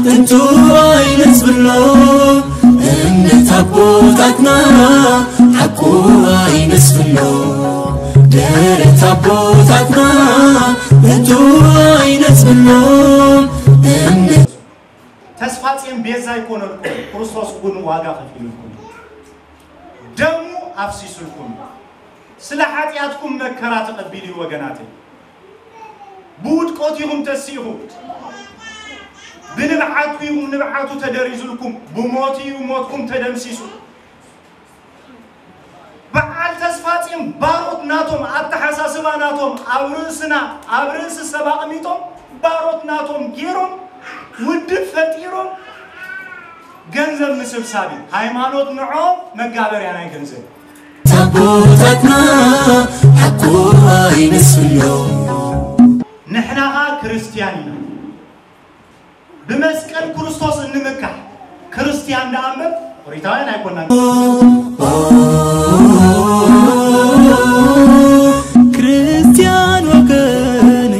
ጥንቱ ኣይነጽብሎ እምነት ኣቦታትና ሓቁ ኣይነጽብሎ ደረት ኣቦታትና ጥንቱ ኣይነጽብሎ እምነት ተስፋ ጽዮን ቤዛ ኣይኮነልኩም፣ ክርስቶስ እውን ዋጋ ከፊሉልኩም። ደሙ ኣፍሲሱልኩም። ስለ ሓጢኣትኩም መከራ ተቐቢሉ እዩ ወገናተይ። ብውድቀት ኢኹም ተሲእኹም። ብንብዓትኩ ኢኹም ንብዓቱ ተደሪዙልኩም። ብሞቱ እዩ ሞትኩም ተደምሲሱ። በዓል ተስፋ ጽዮን ባሮት ናቶም ኣተሓሳስባ ናቶም ኣብ ርእስና ኣብ ርእሲ ሰብ ኣቕሚጦም ባሮት ናቶም ገይሮም ውድብ ፈጢሮም ገንዘብ ምስብሳብ እዩ። ሃይማኖት ንዖም መጋበርያ ናይ ገንዘብ እዩ። ኣቦታትና ሓቁ ኣይነስሎ ንሕናኻ ክርስትያን ኢና። ብመስቀል ክርስቶስ እንምካሕ ክርስትያን ደኣ እምበር ኦሪታውያን ኣይኮናን። ክርስትያን ወገን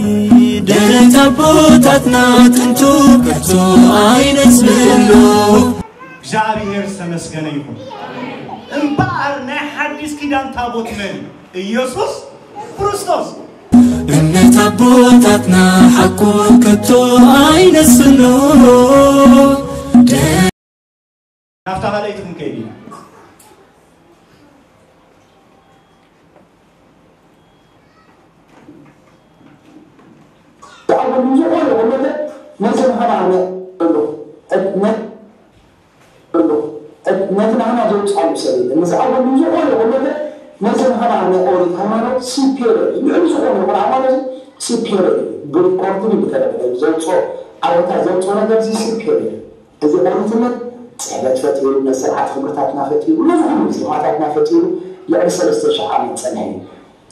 ደረት ኣቦታትና ጥንቱ ከቶ ኣይነስሎ እግዚኣብሔር ዝተመስገነ ይኹን። እምበኣር ናይ ሓዲስ ኪዳን ታቦት መን እዩ? ኢየሱስ ክርስቶስ። እምነት ኣቦታትና ሓቁ ከቶ ኣይነስሎ ናብታ ካልኣይቲ ክንከይድ ኢና። ዝኣበሉ ዝኾነ ይኹን ነገር ነዚ ንኸማነ ኣሎ ነቲ ናህና ዘውፅኣሉ ሰብ የለን። ንዝኣበሉ ዝኾነ ይኹን ነገር ነዚ ንኸማነ ኦሪት ሃይማኖት ሲፔር ልዕሊ ዝኾነ ይኹን ሃይማኖት ሲፔር ብሪኮርድን ብተለበለ ዘውፅኦ ኣወታ ዘውፅኦ ነገር እዚ ሲፔር እዚ ኦሪትነት ፅሕፈት ፈጢሩ ነስርዓት ክብርታትና ፈጢሩ ነዚ ኩሉ ዜማታትና ፈጢሩ ልዕሊ ሰለስተ ሽሕ ዓመት ፀንሐ እዩ።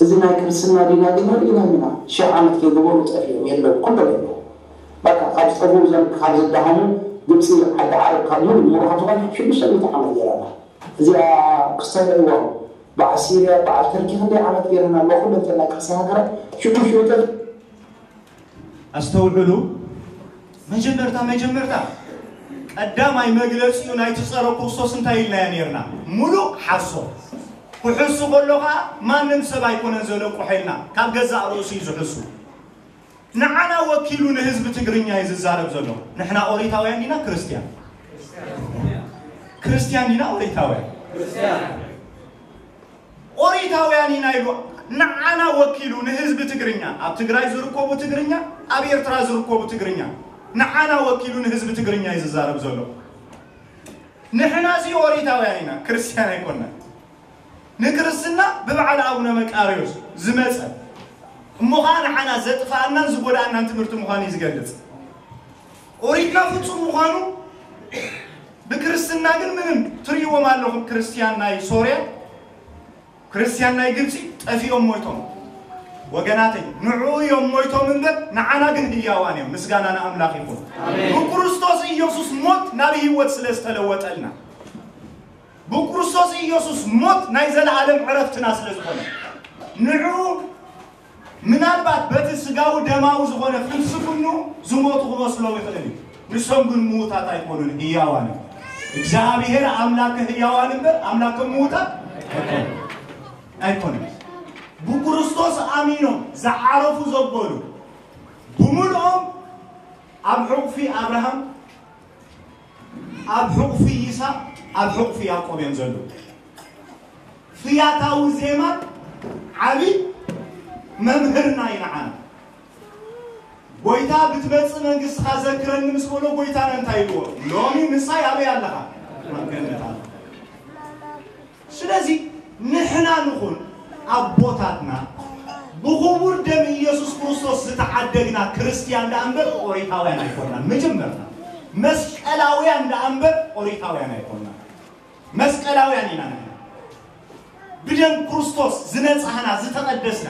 እዚ ናይ ክርስትና ዲና ግን ርኢናም ኢና። ሽሕ ዓመት ከይገበሩ ጠፊኦም የለው፣ ኩሎም የለው። በቃ ካብ ዝጠፍኡ እዞም ካብ ዝደሃሙ ግብፂ ዓዲ ዓረብ ካብ ሙሉ ሙሉ ካብ ዝኾነ ሽዱሽተ ሚእቲ ዓመት ገይራ ኣላ። እዚኣ ክስተርዕዋ በዓል ሲርያ በዓል ተርኪ ክንደይ ዓመት ገይረና ኣሎ። ኩለንተን ናይ ክርስትና ሃገራት ሽዱሽተ ሚእቲ ኣስተውዕሉ። መጀመርታ መጀመርታ ቀዳማይ መግለፂኡ ናይቲ ፀረ ክርስቶስ እንታይ ኢልናዮ ነርና? ሙሉእ ሓሶት። ክሕሱ ከሎ ከዓ ማንም ሰብ ኣይኮነን ዘለቁሖ ኢልና ካብ ገዛእ ርእሱ እዩ ዝሕሱ። ንዓና ወኪሉ ንህዝቢ ትግርኛ እዩ ዝዛረብ ዘሎ። ንሕና ኦሪታውያን ዲና ክርስትያን? ክርስትያን ዲና ኦሪታውያን? ኦሪታውያን ኢና ኢሉ ንዓና ወኪሉ ንህዝቢ ትግርኛ ኣብ ትግራይ ዝርከቡ ትግርኛ ኣብ ኤርትራ ዝርከቡ ትግርኛ ንዓና ወኪሉ ንህዝቢ ትግርኛ እዩ ዝዛረብ ዘሎ። ንሕና እዚ ኦሪታውያን ኢና፣ ክርስትያን ኣይኮንና። ንክርስትና ብበዓል ኣቡነ መቃርዮስ ዝመፀ እሞ ከዓ ንዓና ዘጥፋኣናን ዝጎዳኣናን ትምህርቲ ምዃኑ እዩ ዝገልፅ። ኦሪትና ፍፁም ምዃኑ ብክርስትና ግን ምንም ትርእይዎም ኣለኹም። ክርስትያን ናይ ሶርያ ክርስትያን ናይ ግብፂ ጠፊኦም ሞይቶም። ወገናተይ ንዕኡ እዮም ሞይቶም እምበር ንዓና ግን ህያዋን እዮም። ምስጋና ንኣምላኽ ይኹን። ብክርስቶስ ኢየሱስ ሞት ናብ ህይወት ስለ ዝተለወጠልና ብክርስቶስ ኢየሱስ ሞት ናይ ዘለኣለም ዕረፍትና ስለ ዝኾነ ንዕኡ ምናልባት በቲ ስጋዊ ደማዊ ዝኾነ ፍልስፍኑ ዝሞቱ ክመስሎም ይኽእል እዩ። ንሶም ግን ምዉታት ኣይኮኑን፣ ህያዋን እዮም። እግዚኣብሔር ኣምላከ ህያዋን እምበር ኣምላከ ምዉታት ኣይኮኑን። ብክርስቶስ ኣሚኖም ዝዓረፉ ዘበሉ ብምልኦም ኣብ ሕቑፊ ኣብርሃም ኣብ ሕቑፊ ይስሐቅ ኣብ ሕቑፊ ያዕቆብ እዮም ዘለዉ። ፍያታዊ ዜማ ዓቢ መምህርና እዩ ንዓና። ጎይታ ብትመጽእ መንግስትኻ ዘክረኒ ምስ በሎ ጎይታና እንታይ ኢልዎ? ሎሚ ምሳይ ኣበይ ኣለኻ? ኣብ ገነት ኣለኻ። ስለዚ ንሕና ንኹን ኣቦታትና ብኽቡር ደም ኢየሱስ ክርስቶስ ዝተዓደግና ክርስትያን ደኣ እምበር ኦሪታውያን ኣይኮንና። መጀመርታ መስቀላውያን ደኣ እምበር ኦሪታውያን ኣይኮንና። መስቀላውያን ኢና ንሕና። ብደም ክርስቶስ ዝነጻህና ዝተቐደስና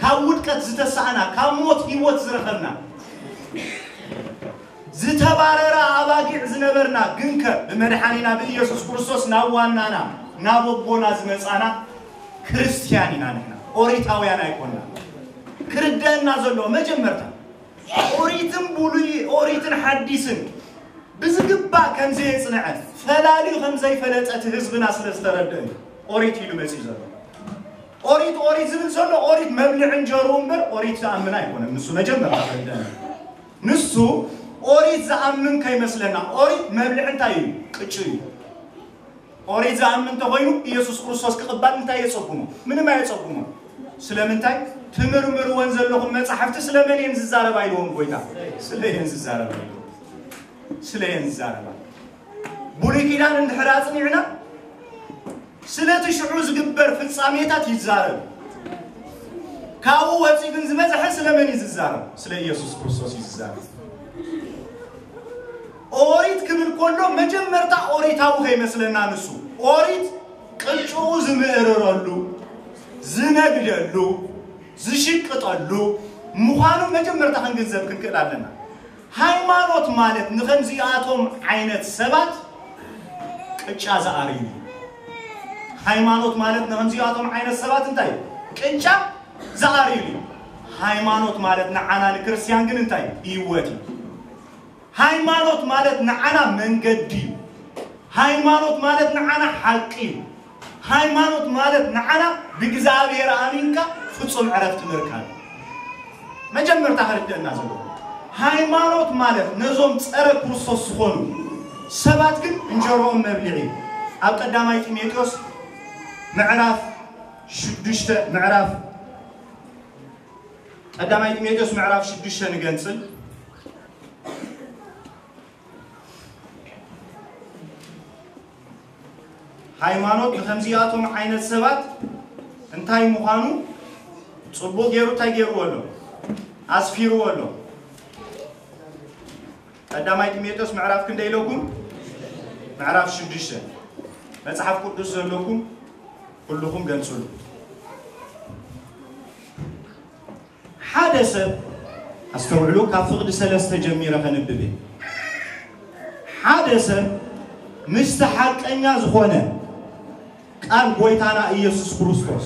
ካብ ውድቀት ዝተሳእና ካብ ሞት ህይወት ዝረኸብና ዝተባረራ ኣባጊዕ ዝነበርና ግንከ ብመድሓኒና ብኢየሱስ ክርስቶስ ናብ ዋናና ናብ ኣቦና ዝመጻና ክርስትያን ኢና ንሕና። ኦሪታውያን ኣይኮንና። ክርደአና ዘለዎ መጀመርታ ኦሪትን ብሉይ ኦሪትን ሓዲስን ብዝግባእ ከም ዘየጽንዐ ፈላልዩ ከም ዘይፈለጠ እቲ ህዝብና ስለ ዝተረድአ እዩ ኦሪት ኢሉ መጺኡ ዘሎ። ኦሪት ኦሪት ዝብል ዘሎ ኦሪት መብልዒ እንጀርኡ እምበር ኦሪት ዝኣምን ኣይኮነን። ንሱ መጀመርታ ከርድአና። ንሱ ኦሪት ዝኣምን ከይመስለና። ኦሪት መብልዒ እንታይ እዩ? ቅጩ እዩ። ኦሪት ዝኣምን እንተኾይኑ ኢየሱስ ክርስቶስ ክቕባል እንታይ የጸጉሞ? ምንም ኣየጸጉሞ። ስለምንታይ? ትምርምርወን ዘለኹም መጻሕፍቲ ስለመን እየን ዝዛረባ ኢልዎም ጎይታ። ስለ እየን ዝዛረባ ኢልዎም። ስለ እየን ዝዛረባ። ብሉይ ኪዳን እንድሕር ኣጽኒዕና ስለቲ ሽዑ ዝግበር ፍጻሜታት ይዛረብ። ካብኡ ወፂኡ ግን ዝበዝሐ ስለመን እዩ ዝዛረብ? ስለ ኢየሱስ ክርስቶስ እዩ ዝዛረብ። ኦሪት ክብል ከሎ መጀመርታ ኦሪታዊ ከይመስለና ንሱ ኦሪት ቅጭኡ ዝምእርረሉ ዝነግደሉ ዝሽቅጠሉ ምዃኑ መጀመርታ ክንግንዘብ ክንክእል ኣለና። ሃይማኖት ማለት ንኸምዚኣቶም ዓይነት ሰባት ቅጫ ዝኣርዩ እዩ። ሃይማኖት ማለት ንኸምዚኣቶም ዓይነት ሰባት እንታይ እዩ? ቅጫ ዝኣርዩ እዩ። ሃይማኖት ማለት ንዓና ንክርስትያን ግን እንታይ እዩ? ህይወት እዩ። ሃይማኖት ማለት ንዓና መንገዲ እዩ። ሃይማኖት ማለት ንዓና ሓቂ እዩ። ሃይማኖት ማለት ንዓና ብእግዚኣብሔር ኣሚንካ ፍጹም ዕረፍቲ ምርካብ እዩ። መጀመርታ ክርደአና ዘለዎ ሃይማኖት ማለት ነዞም ጸረ ክርስቶስ ዝኾኑ ሰባት ግን እንጀሮኦም መብልዒ እዩ። ኣብ ቀዳማይ ጢሞቴዎስ ምዕራፍ ሽዱሽተ ምዕራፍ ቀዳማይ ጢሞቴዎስ ምዕራፍ ሽዱሽተ ንገንጽል። ሃይማኖት ንከምዚኣቶም ዓይነት ሰባት እንታይ ምዃኑ ጽቡቕ ገይሩ እንታይ ገይርዎ ኣሎ? ኣስፊርዎ ኣሎ። ቀዳማይ ጢሞቴዎስ ምዕራፍ ክንደይ ኢለኩም? ምዕራፍ ሽዱሽተ። መጽሓፍ ቅዱስ ዘለኩም ኩልኹም ገንጽሉ። ሓደ ሰብ፣ ኣስተውዕሉ፣ ካብ ፍቕዲ ሰለስተ ጀሚረ ከንብብ እየ። ሓደ ሰብ ምስቲ ሓቀኛ ዝኾነ ቃል ጎይታና ኢየሱስ ክርስቶስ፣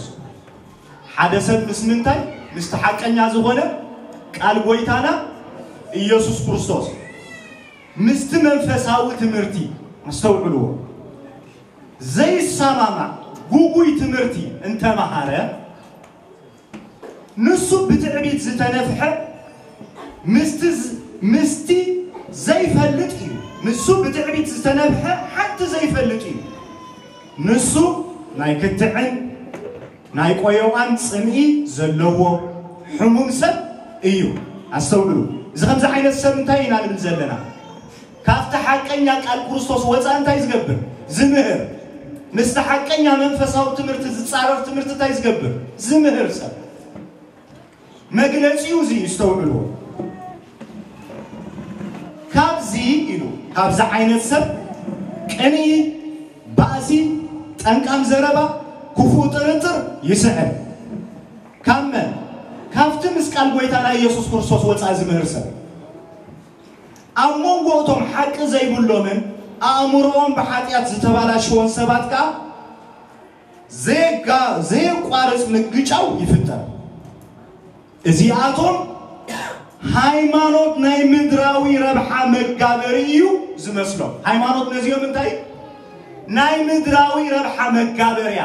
ሓደ ሰብ ምስ ምንታይ? ምስቲ ሓቀኛ ዝኾነ ቃል ጎይታና ኢየሱስ ክርስቶስ፣ ምስቲ መንፈሳዊ ትምህርቲ፣ ኣስተውዕልዎ፣ ዘይሰማማዕ ጉጉይ ትምህርቲ እንተመሃረ፣ ንሱ ብትዕቢት ዝተነፍሐ ምስቲ ዝ-፣ ምስቲ ዘይፈልጥ እዩ። ንሱ ብትዕቢት ዝተነፍሐ ሓንቲ ዘይፈልጥ እዩ። ንሱ ናይ ክትዕን ናይ ቆዮቓን ጽምኢ ዘለዎ ሕሙም ሰብ እዩ። ኣስተውዕሉ። እዚ ከምዚ ዓይነት ሰብ እንታይ ኢና ንብል ዘለና? ካብቲ ሓቀኛ ቃል ክርስቶስ ወፃኢ እንታይ ዝገብር? ዝምህር። ምስቲ ሓቀኛ መንፈሳዊ ትምህርቲ ዝጻረር ትምህርቲ እንታይ ዝገብር? ዝምህር ሰብ። መግለጺኡ እዚ እዩ፣ ኣስተውዕልዎ። ካብዚ ኢሉ፣ ካብዚ ዓይነት ሰብ ቅንኢ፣ ባእሲ፣ ጠንቃም ዘረባ፣ ክፉእ ጥርጥር ይስዕብ። ካብ መን? ካብቲ ምስ ቃል ጎይታና ኢየሱስ ክርስቶስ ወፃኢ ዝምህር ሰብ። ኣብ መንጎ እቶም ሓቂ ዘይብሎምን ኣእምሮኦም ብሓጢኣት ዝተባላሸወን ሰባት ከኣ ዘየጋ-፣ ዘየቋርጽ ምግጫው ይፍጠር። እዚኣቶም ሃይማኖት ናይ ምድራዊ ረብሓ መጋበሪ እዩ ዝመስሎም። ሃይማኖት ነዚኦም እንታይ? ናይ ምድራዊ ረብሓ መጋበርያ፣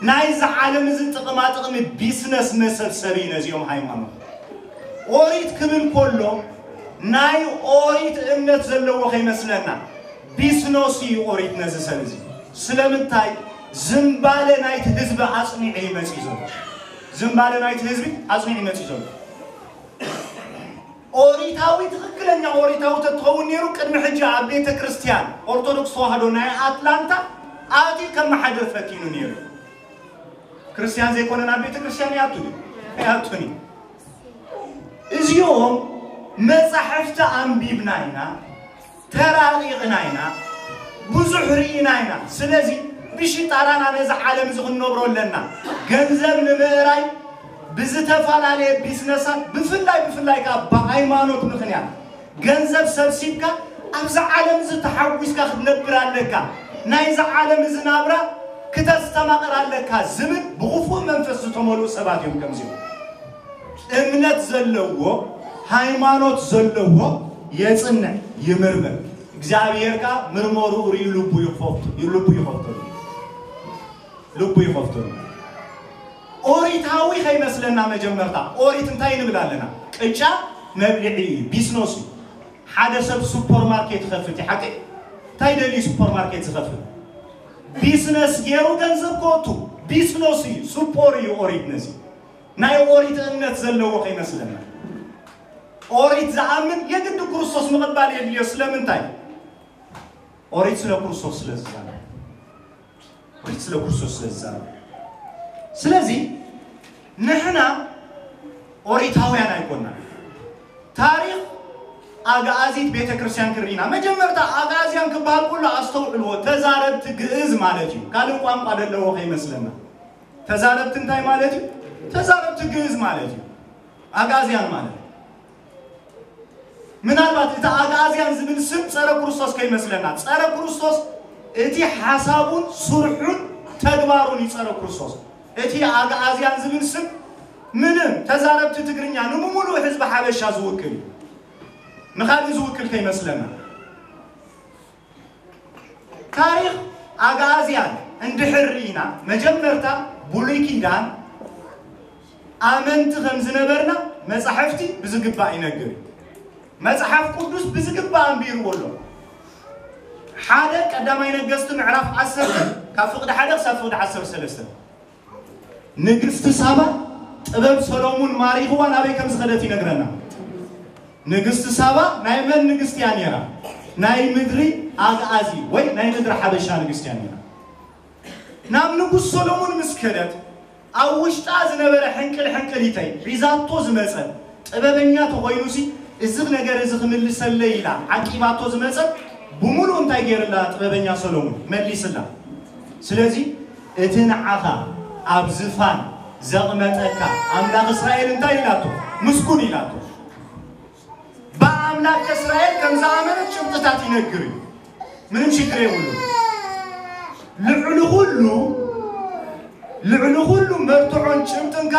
ናይዚ ዓለም እዚ ጥቕማ ጥቕሚ ቢስነስ መሰብሰቢ ነዚኦም ሃይማኖት። ኦሪት ክብል ከሎ ናይ ኦሪት እምነት ዘለዎ ከይመስለና፣ ቢስነስ እዩ ኦሪት ነዚ ሰብ እዚ። ስለምንታይ? ዝምባለ ናይቲ ህዝቢ ኣጽኒዑ ይመጽእ ዘሎ። ዝምባለ ናይቲ ህዝቢ ኣጽኒዑ ይመጽእ ዘሎ። ኦሪታዊ፣ ትኽክለኛ ኦሪታዊ ተትኸውን ነይሩ፣ ቅድሚ ሕጂ ኣብ ቤተ ክርስቲያን ኦርቶዶክስ ተዋህዶ ናይ ኣትላንታ ኣትዩ ከመሓድር ፈቲኑ ነይሩ። ክርስቲያን ዘይኮነ ናብ ቤተ ክርስቲያን ይኣቱ ድዩ? ኣይኣቱን እዩ። እዚኦም መጻሕፍቲ ኣንቢብና ኢና፣ ተራቒቕና ኢና፣ ብዙሕ ርኢና ኢና። ስለዚ ብሽጣራና ነዚ ዓለም እዚ ክንነብሮ ኣለና። ገንዘብ ንምእራይ ብዝተፈላለየ ቢዝነሳት፣ ብፍላይ፣ ብፍላይ ከኣ ብሃይማኖት ምኽንያት ገንዘብ ሰብሲብካ ኣብዚ ዓለም እዚ ተሓጒስካ ክትነብር ኣለካ፣ ናይዚ ዓለም እዚ ናብራ ክተስተማቕር ኣለካ ዝብል ብኽፉእ መንፈስ ዝተመልኡ ሰባት እዮም። ከምዚኦም እምነት ዘለዎ ሃይማኖት ዘለዎ የጽንዕ፣ ይምርምር። እግዚኣብሔር ከኣ ምርመርኡ ርእዩ ልቡ ይኸፍቱ ልቡ ይኸፍተሉ ልቡ ይኸፍተሉ። ኦሪታዊ ከይመስለና መጀመርታ ኦሪት እንታይ ንብል ኣለና? ቅጫ መብልዒ እዩ፣ ቢስኖስ እዩ። ሓደ ሰብ ሱፐርማርኬት ይኸፍት እዩ፣ ሓቂ? እንታይ ደልዩ ሱፐርማርኬት ዝኸፍት? ቢስነስ ገይሩ ገንዘብ ከወቱ፣ ቢስኖስ እዩ፣ ሱፖር እዩ። ኦሪት ነዚ ናይ ኦሪት እምነት ዘለዎ ከይመስለና። ኦሪት ዝኣምን የግድ ክርስቶስ ምቕባል የድልዮ። ስለምንታይ? ኦሪት ስለ ክርስቶስ ስለ ዝዛረብ። ኦሪት ስለ ክርስቶስ ስለ ዝዛረብ። ስለዚ ንሕና ኦሪታውያን ኣይኮና። ታሪኽ ኣግኣዚት ቤተ ክርስቲያን ክርኢና፣ መጀመርታ ኣግኣዝያን ክበሃል ከሎ ኣስተውዕልዎ፣ ተዛረብቲ ግእዝ ማለት እዩ። ካልእ ቋንቋ ዘለዎ ከይመስለና። ተዛረብቲ እንታይ ማለት እዩ? ተዛረብቲ ግእዝ ማለት እዩ። ኣግኣዝያን ማለት ምናልባት እቲ ኣግኣዝያን ዝብል ስም ጸረ ክርስቶስ ከይመስለና። ጸረ ክርስቶስ እቲ ሓሳቡን ስርሑን ተግባሩን እዩ ጸረ ክርስቶስ። እቲ ኣግኣዝያን ዝብል ስም ምንም ተዛረብቲ ትግርኛ ንምሉእ ህዝቢ ሓበሻ ዝውክል እዩ። ንኻልእ ዝውክል ከይመስለና። ታሪኽ ኣግኣዝያን እንድሕር ርኢና፣ መጀመርታ ብሉይ ኪዳን ኣመንቲ ከም ዝነበርና መጻሕፍቲ ብዝግባእ ይነግር እዩ። መጽሓፍ ቅዱስ ብዝግባእ ኣንቢርዎ ኣሎ። ሓደ ቀዳማይ ነገስቲ ምዕራፍ ዓሰርተ ካብ ፍቕዲ ሓደ ክሳብ ፍቕዲ ዓሰርተ ሰለስተ። ንግስቲ ሳባ ጥበብ ሰሎሙን ማሪኽዋ ናበይ ከም ዝኸደት ይነግረና። ንግስቲ ሳባ ናይ መን ንግስቲ እያ ነይራ? ናይ ምድሪ ኣግኣዚ ወይ ናይ ምድሪ ሓበሻ ንግስቲ እያ ነይራ። ናብ ንጉስ ሰሎሙን ምስ ከደት ኣብ ውሽጣ ዝነበረ ሕንቅል ሕንቅሊተይ ሒዛቶ ዝመጸት ጥበበኛ ተኾይኑሲ እዚ ነገር እዚ ክምልሰለይ ኢላ ዓቂባቶ ዝመጸት ብምሉእ እንታይ ገይርላ ጥበበኛ ሰሎሙን? መሊስላ። ስለዚ እቲ ንዓኻ ኣብ ዝፋን ዘቕመጠካ ኣምላኽ እስራኤል እንታይ ኢላቶ? ምስጉን ኢላቶ። ብኣምላክ እስራኤል ከም ዝኣመነት ጭብጥታት ይነግር እዩ። ምንም ሽግር የብሉ። ልዕሊ ኩሉ ልዕሊ ኩሉ መርትዖን ጭብጥንካ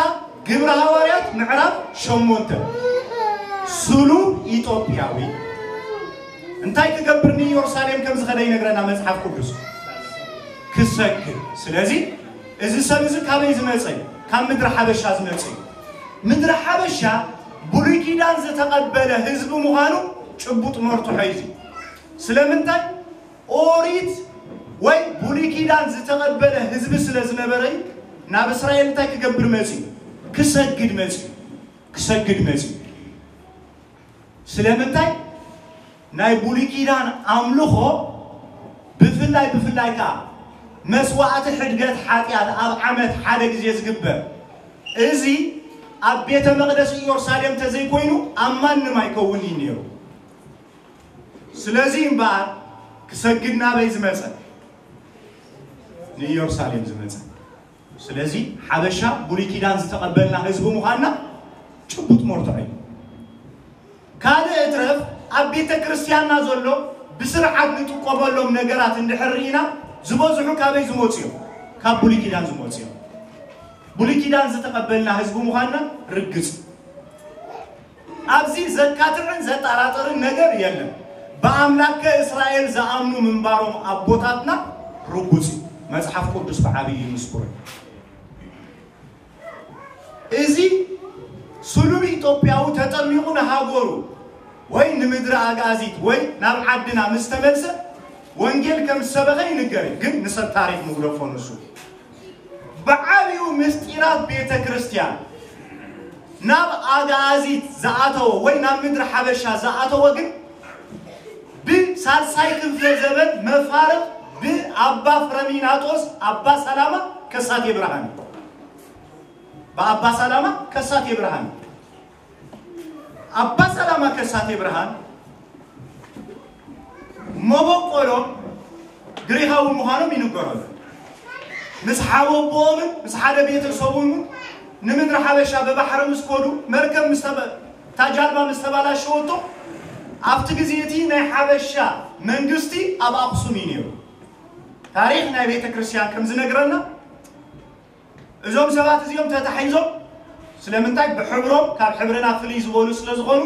ግብረ ሃዋርያት ምዕራፍ ሸሞንተ ስሉብ ኢትዮጵያዊ እንታይ ክገብር ንኢየሩሳሌም ከም ዝኸደ ይነግረና መጽሓፍ ቅዱስ። ክሰግድ። ስለዚ እዚ ሰብ እዚ ካበይ ዝመጸ እዩ? ካብ ምድሪ ሓበሻ ዝመጸ እዩ። ምድሪ ሓበሻ ብሉይ ኪዳን ዝተቐበለ ህዝቢ ምዃኑ ጭቡጥ መርትዖ እዩ። ስለምንታይ? ኦሪት ወይ ብሉይ ኪዳን ዝተቐበለ ህዝቢ ስለ ዝነበረ እዩ። ናብ እስራኤል እንታይ ክገብር መጺኡ? ክሰግድ መጺኡ። ክሰግድ መጺኡ። ስለምንታይ? ናይ ብሉይ ኪዳን ኣምልኾ ብፍላይ ብፍላይ ከኣ መስዋዕቲ ሕድገት ሓጢኣት ኣብ ዓመት ሓደ ግዜ ዝግበር፣ እዚ ኣብ ቤተ መቕደስ ኢየሩሳሌም ተዘይኮይኑ ኣብ ማንም ኣይከውን እዩ ነይሩ። ስለዚ እምበኣር ክሰግድ ናበይ ዝመጸ? ንኢየሩሳሌም ዝመጸ። ስለዚ ሓበሻ ብሉይ ኪዳን ዝተቐበልና ህዝቢ ምዃንና ጭቡጥ መርትዖ እዩ። ካልእ እትረፍ ኣብ ቤተ ክርስቲያንና ዘሎ ብስርዓት ንጥቀመሎም ነገራት እንድሕር ርኢና ዝበዝሑ ካበይ ዝመፁ እዮም? ካብ ብሉይ ኪዳን ዝመፁ እዮም። ብሉይ ኪዳን ዝተቐበልና ህዝቢ ምዃንና ርግጽ። ኣብዚ ዘካትዕን ዘጠራጥርን ነገር የለን። ብኣምላከ እስራኤል ዝኣምኑ ምንባሮም ኣቦታትና ርጉጽ እዩ። መጽሓፍ ቅዱስ ብዓብዪ ምስክሩ እዩ። እዚ ስሉብ ኢትዮጵያዊ ተጠሚቑ ንሃገሩ ወይ ንምድሪ ኣግኣዚት ወይ ናብ ዓድና ምስ ተመልሰ ወንጌል ከም ዝሰበኸ ይንገር እዩ። ግን ንሰብ ታሪኽ ንግደፎ ንሱ። ብዓብዩ ምስጢራት ቤተ ክርስቲያን ናብ ኣግኣዚት ዝኣተወ ወይ ናብ ምድሪ ሓበሻ ዝኣተወ ግን ብሳልሳይ ክፍለ ዘበን መፋርቕ ብኣባ ፍረሚናጦስ ኣባ ሰላማ ከሳቴ ብርሃን እዩ። ብኣባ ሰላማ ከሳቴ ብርሃን እዩ። ኣባ ሰላማ ከሳቴ ብርሃን መበቆሎም ግሪኻዊ ምዃኖም ይንገረሉ። ምስ ሓወቦኦምን ምስ ሓደ ቤተሰቦምን ንምድሪ ሓበሻ ብባሕሪ ምስ ከዱ መርከብ ምስ ተበ-፣ እታ ጃልባ ምስ ተባላሸወቶ ኣብቲ ግዜ እቲ ናይ ሓበሻ መንግስቲ ኣብ ኣኽሱም እዩ ነይሩ። ታሪኽ ናይ ቤተ ክርስቲያን ከም ዝነግረና እዞም ሰባት እዚኦም ተታሒዞም ስለምንታይ? ብሕብሮም ካብ ሕብርና ፍልይ ዝበሉ ስለ ዝኾኑ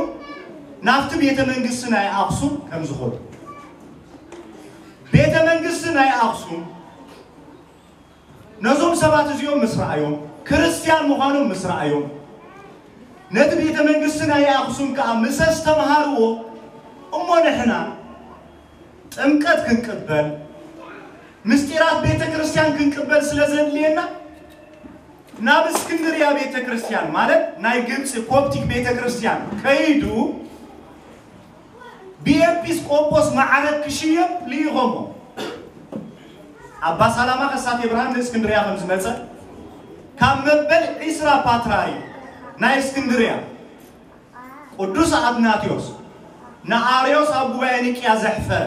ናብቲ ቤተ መንግስቲ ናይ ኣኽሱም ከም ዝኾኑ። ቤተ መንግስቲ ናይ ኣኽሱም ነዞም ሰባት እዚኦም ምስ ረኣዮም፣ ክርስትያን ምዃኖም ምስ ረኣዮም፣ ነቲ ቤተ መንግስቲ ናይ ኣኽሱም ከኣ ምስ ኣስተምሃርዎ፣ እሞ ንሕና ጥምቀት ክንቅበል፣ ምስጢራት ቤተ ክርስትያን ክንቅበል ስለ ዘድልየና፣ ናብ እስክንድርያ ቤተ ክርስትያን፣ ማለት ናይ ግብፂ ኮፕቲክ ቤተ ክርስትያን ከይዱ፣ ብኤጲስቆጶስ ማዕረግ ክሽየም ልኢኾሞ። ኣባ ሰላማ ከሳቴ ብርሃን ንእስክንድርያ ከም ዝመጸ፣ ካብ መበል ዒስራ ፓትርያርክ ናይ እስክንድርያ ቅዱስ ኣትናቴዎስ ንኣርዮስ ኣብ ጉባኤ ኒቅያ ዘሕፈረ፣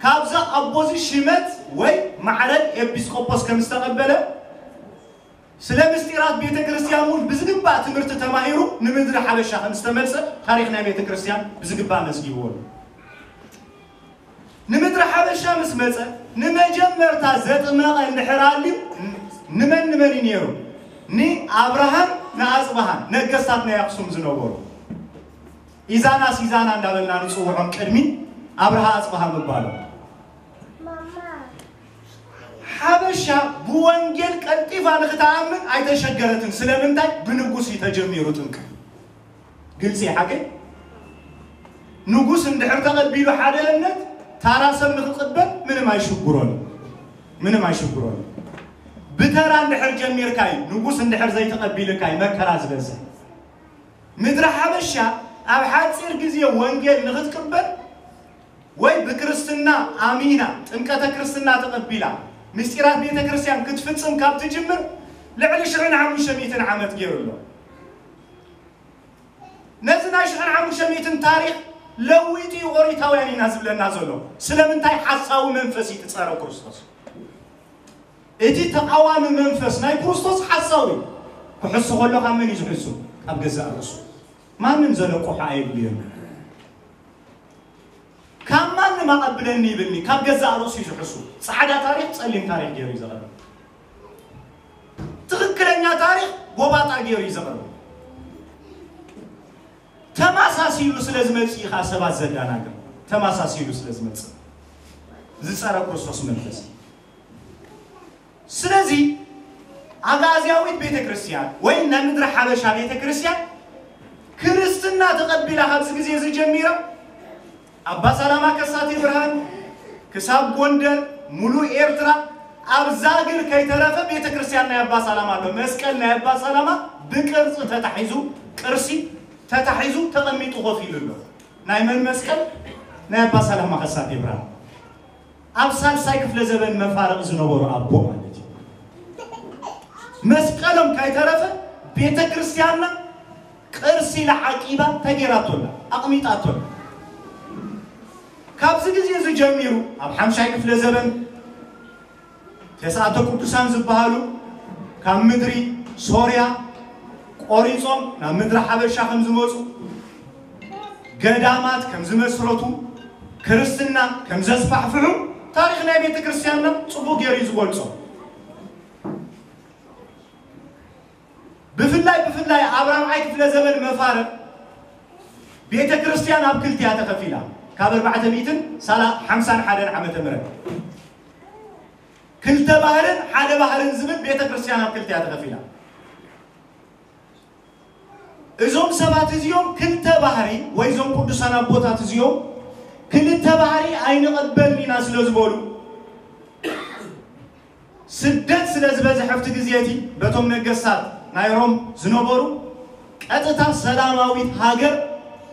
ካብዛ ኣቦዚ ሽመት ወይ ማዕረግ ኤጲስቆጶስ ከም ዝተቐበለ፣ ስለ ምስጢራት ቤተ ክርስቲያን እውን ብዝግባእ ትምህርቲ ተማሂሩ ንምድሪ ሓበሻ ከም ዝተመልሰ ታሪኽ ናይ ቤተ ክርስቲያን ብዝግባእ መዝጊብዎ ኣሎ። ንምድሪ ሓበሻ ምስ መጸ፣ ንመጀመርታ ዘጥመቐ እንድሕር ኣልዩ፣ ንመን ንመን እዩ ነይሩ? ንኣብርሃን ንኣጽብሃን፣ ነገስታት ናይ ኣኽሱም ዝነበሩ። ኢዛና ሲዛና እንዳበልና ንጽውዖም ቅድሚ ኣብርሃ ኣጽብሃ ምባሉ። ሓበሻ ብወንጌል ቀልጢፋ ንክትኣምን ኣይተሸገረትን። ስለምንታይ? ብንጉስ እዩ ተጀሚሩ ጥምቀት። ግልፂ ሓቂ። ንጉስ እንድሕር ተቐቢሉ ሓደ እምነት፣ ታራ ሰብ ንክቕበል ምንም ኣይሽግሮን፣ ምንም ኣይሽግሮን። ብተራ እንድሕር ጀሚርካይ፣ ንጉስ እንድሕር ዘይተቐቢልካይ መከራ ዝበዝሕ። ምድሪ ሓበሻ ኣብ ሓፂር ግዜ ወንጌል ንክትቅበል ወይ ብክርስትና ኣሚና ጥምቀተ ክርስትና ተቐቢላ ምስጢራት ቤተ ክርስቲያን ክትፍጽም ካብ ትጅምር ልዕሊ ሽሕን ሓሙሽተ ሚእትን ዓመት ገይሩ ኣሎ። ነዚ ናይ ሽሕን ሓሙሽተ ሚእትን ታሪኽ ለዊጡ እዩ ኦሪታውያን ኢና ዝብለና ዘሎ። ስለምንታይ? ሓሳዊ መንፈስ እዩ ትጸረ ክርስቶስ። እቲ ተቓዋሚ መንፈስ ናይ ክርስቶስ ሓሳዊ ክሕሱ ከሎ ካብ መን እዩ ዝሕሱ? ካብ ገዛእ ርእሱ። ማንም ዘለቆሖ ኣየድልዮን። ካብ ማንም ኣቐብለኒ ይብልኒ፣ ካብ ገዛእ ርእሱ እዩ ዝሕሱ። ጻዕዳ ታሪኽ ጸሊም ታሪኽ ገይሩ እዩ ዘቕርብ። ትኽክለኛ ታሪኽ ጎባጣ ገይሩ እዩ ዘቕርብ። ተማሳሲሉ ስለ ዝመጽእ እዩ ኸዓ ሰባት ዘዳናግር። ተማሳሲሉ ስለ ዝመጽእ ዝጸረ ክርስቶስ መንፈስ እዩ። ስለዚ ኣጋዝያዊት ቤተ ክርስቲያን ወይ ናይ ምድሪ ሓበሻ ቤተ ክርስቲያን ክርስትና ተቐቢላ ካብዚ ግዜ እዚ ጀሚራ ኣባ ሰላማ ከሳቴ ብርሃን ክሳብ ጎንደር፣ ሙሉእ ኤርትራ፣ ኣብ ዛግር ከይተረፈ ቤተ ክርስቲያን ናይ ኣባ ሰላማ ኣሎ። መስቀል ናይ ኣባ ሰላማ ብቅርጺ ተታሒዙ፣ ቅርሲ ተታሒዙ ተቐሚጡ ኮፍ ኢሉ ኣሎ። ናይ መን መስቀል? ናይ ኣባ ሰላማ ከሳቴ ብርሃን። ኣብ ሳልሳይ ክፍለ ዘበን መፋርቕ ዝነበሩ ኣቦ ማለት እዩ። መስቀሎም ከይተረፈ ቤተ ክርስቲያንና ቅርሲ ኢላ ዓቂባ ተጌራቶላ፣ ኣቕሚጣቶላ። ካብዚ ግዜ እዚ ጀሚሩ ኣብ ሓምሻይ ክፍለ ዘበን ተስዓተ ቅዱሳን ዝበሃሉ ካብ ምድሪ ሶርያ ቆሪጾም ናብ ምድሪ ሓበሻ ከም ዝመጹ፣ ገዳማት ከም ዝመስረቱ፣ ክርስትና ከም ዘስፋሕፍሑ ታሪኽ ናይ ቤተ ክርስቲያንና ጽቡቕ ገይሩ እዩ ዝገልጾ። ብፍላይ ብፍላይ ኣብ ራብዓይ ክፍለ ዘመን መፋርቕ ቤተ ክርስቲያን ኣብ ክልቲያ ተኸፊላ። ካብ ኣርባዕተ ሚእትን ሓምሳን ሓደን ዓመተ ምህረት ክልተ ባህርን ሓደ ባህርን ዝብል ቤተ ክርስቲያን ኣብ ክልቲያ ተኸፊላ። እዞም ሰባት እዚኦም ክልተ ባህሪ ወይ እዞም ቅዱሳን ኣቦታት እዚኦም ክልተ ባህሪ ኣይንቐበልን ኢና ስለ ዝበሉ ስደት ስለ ዝበዝሐ ኣብቲ ግዜ እቲ በቶም ነገስታት ናይ ሮም ዝነበሩ ቀጥታ ሰላማዊት ሃገር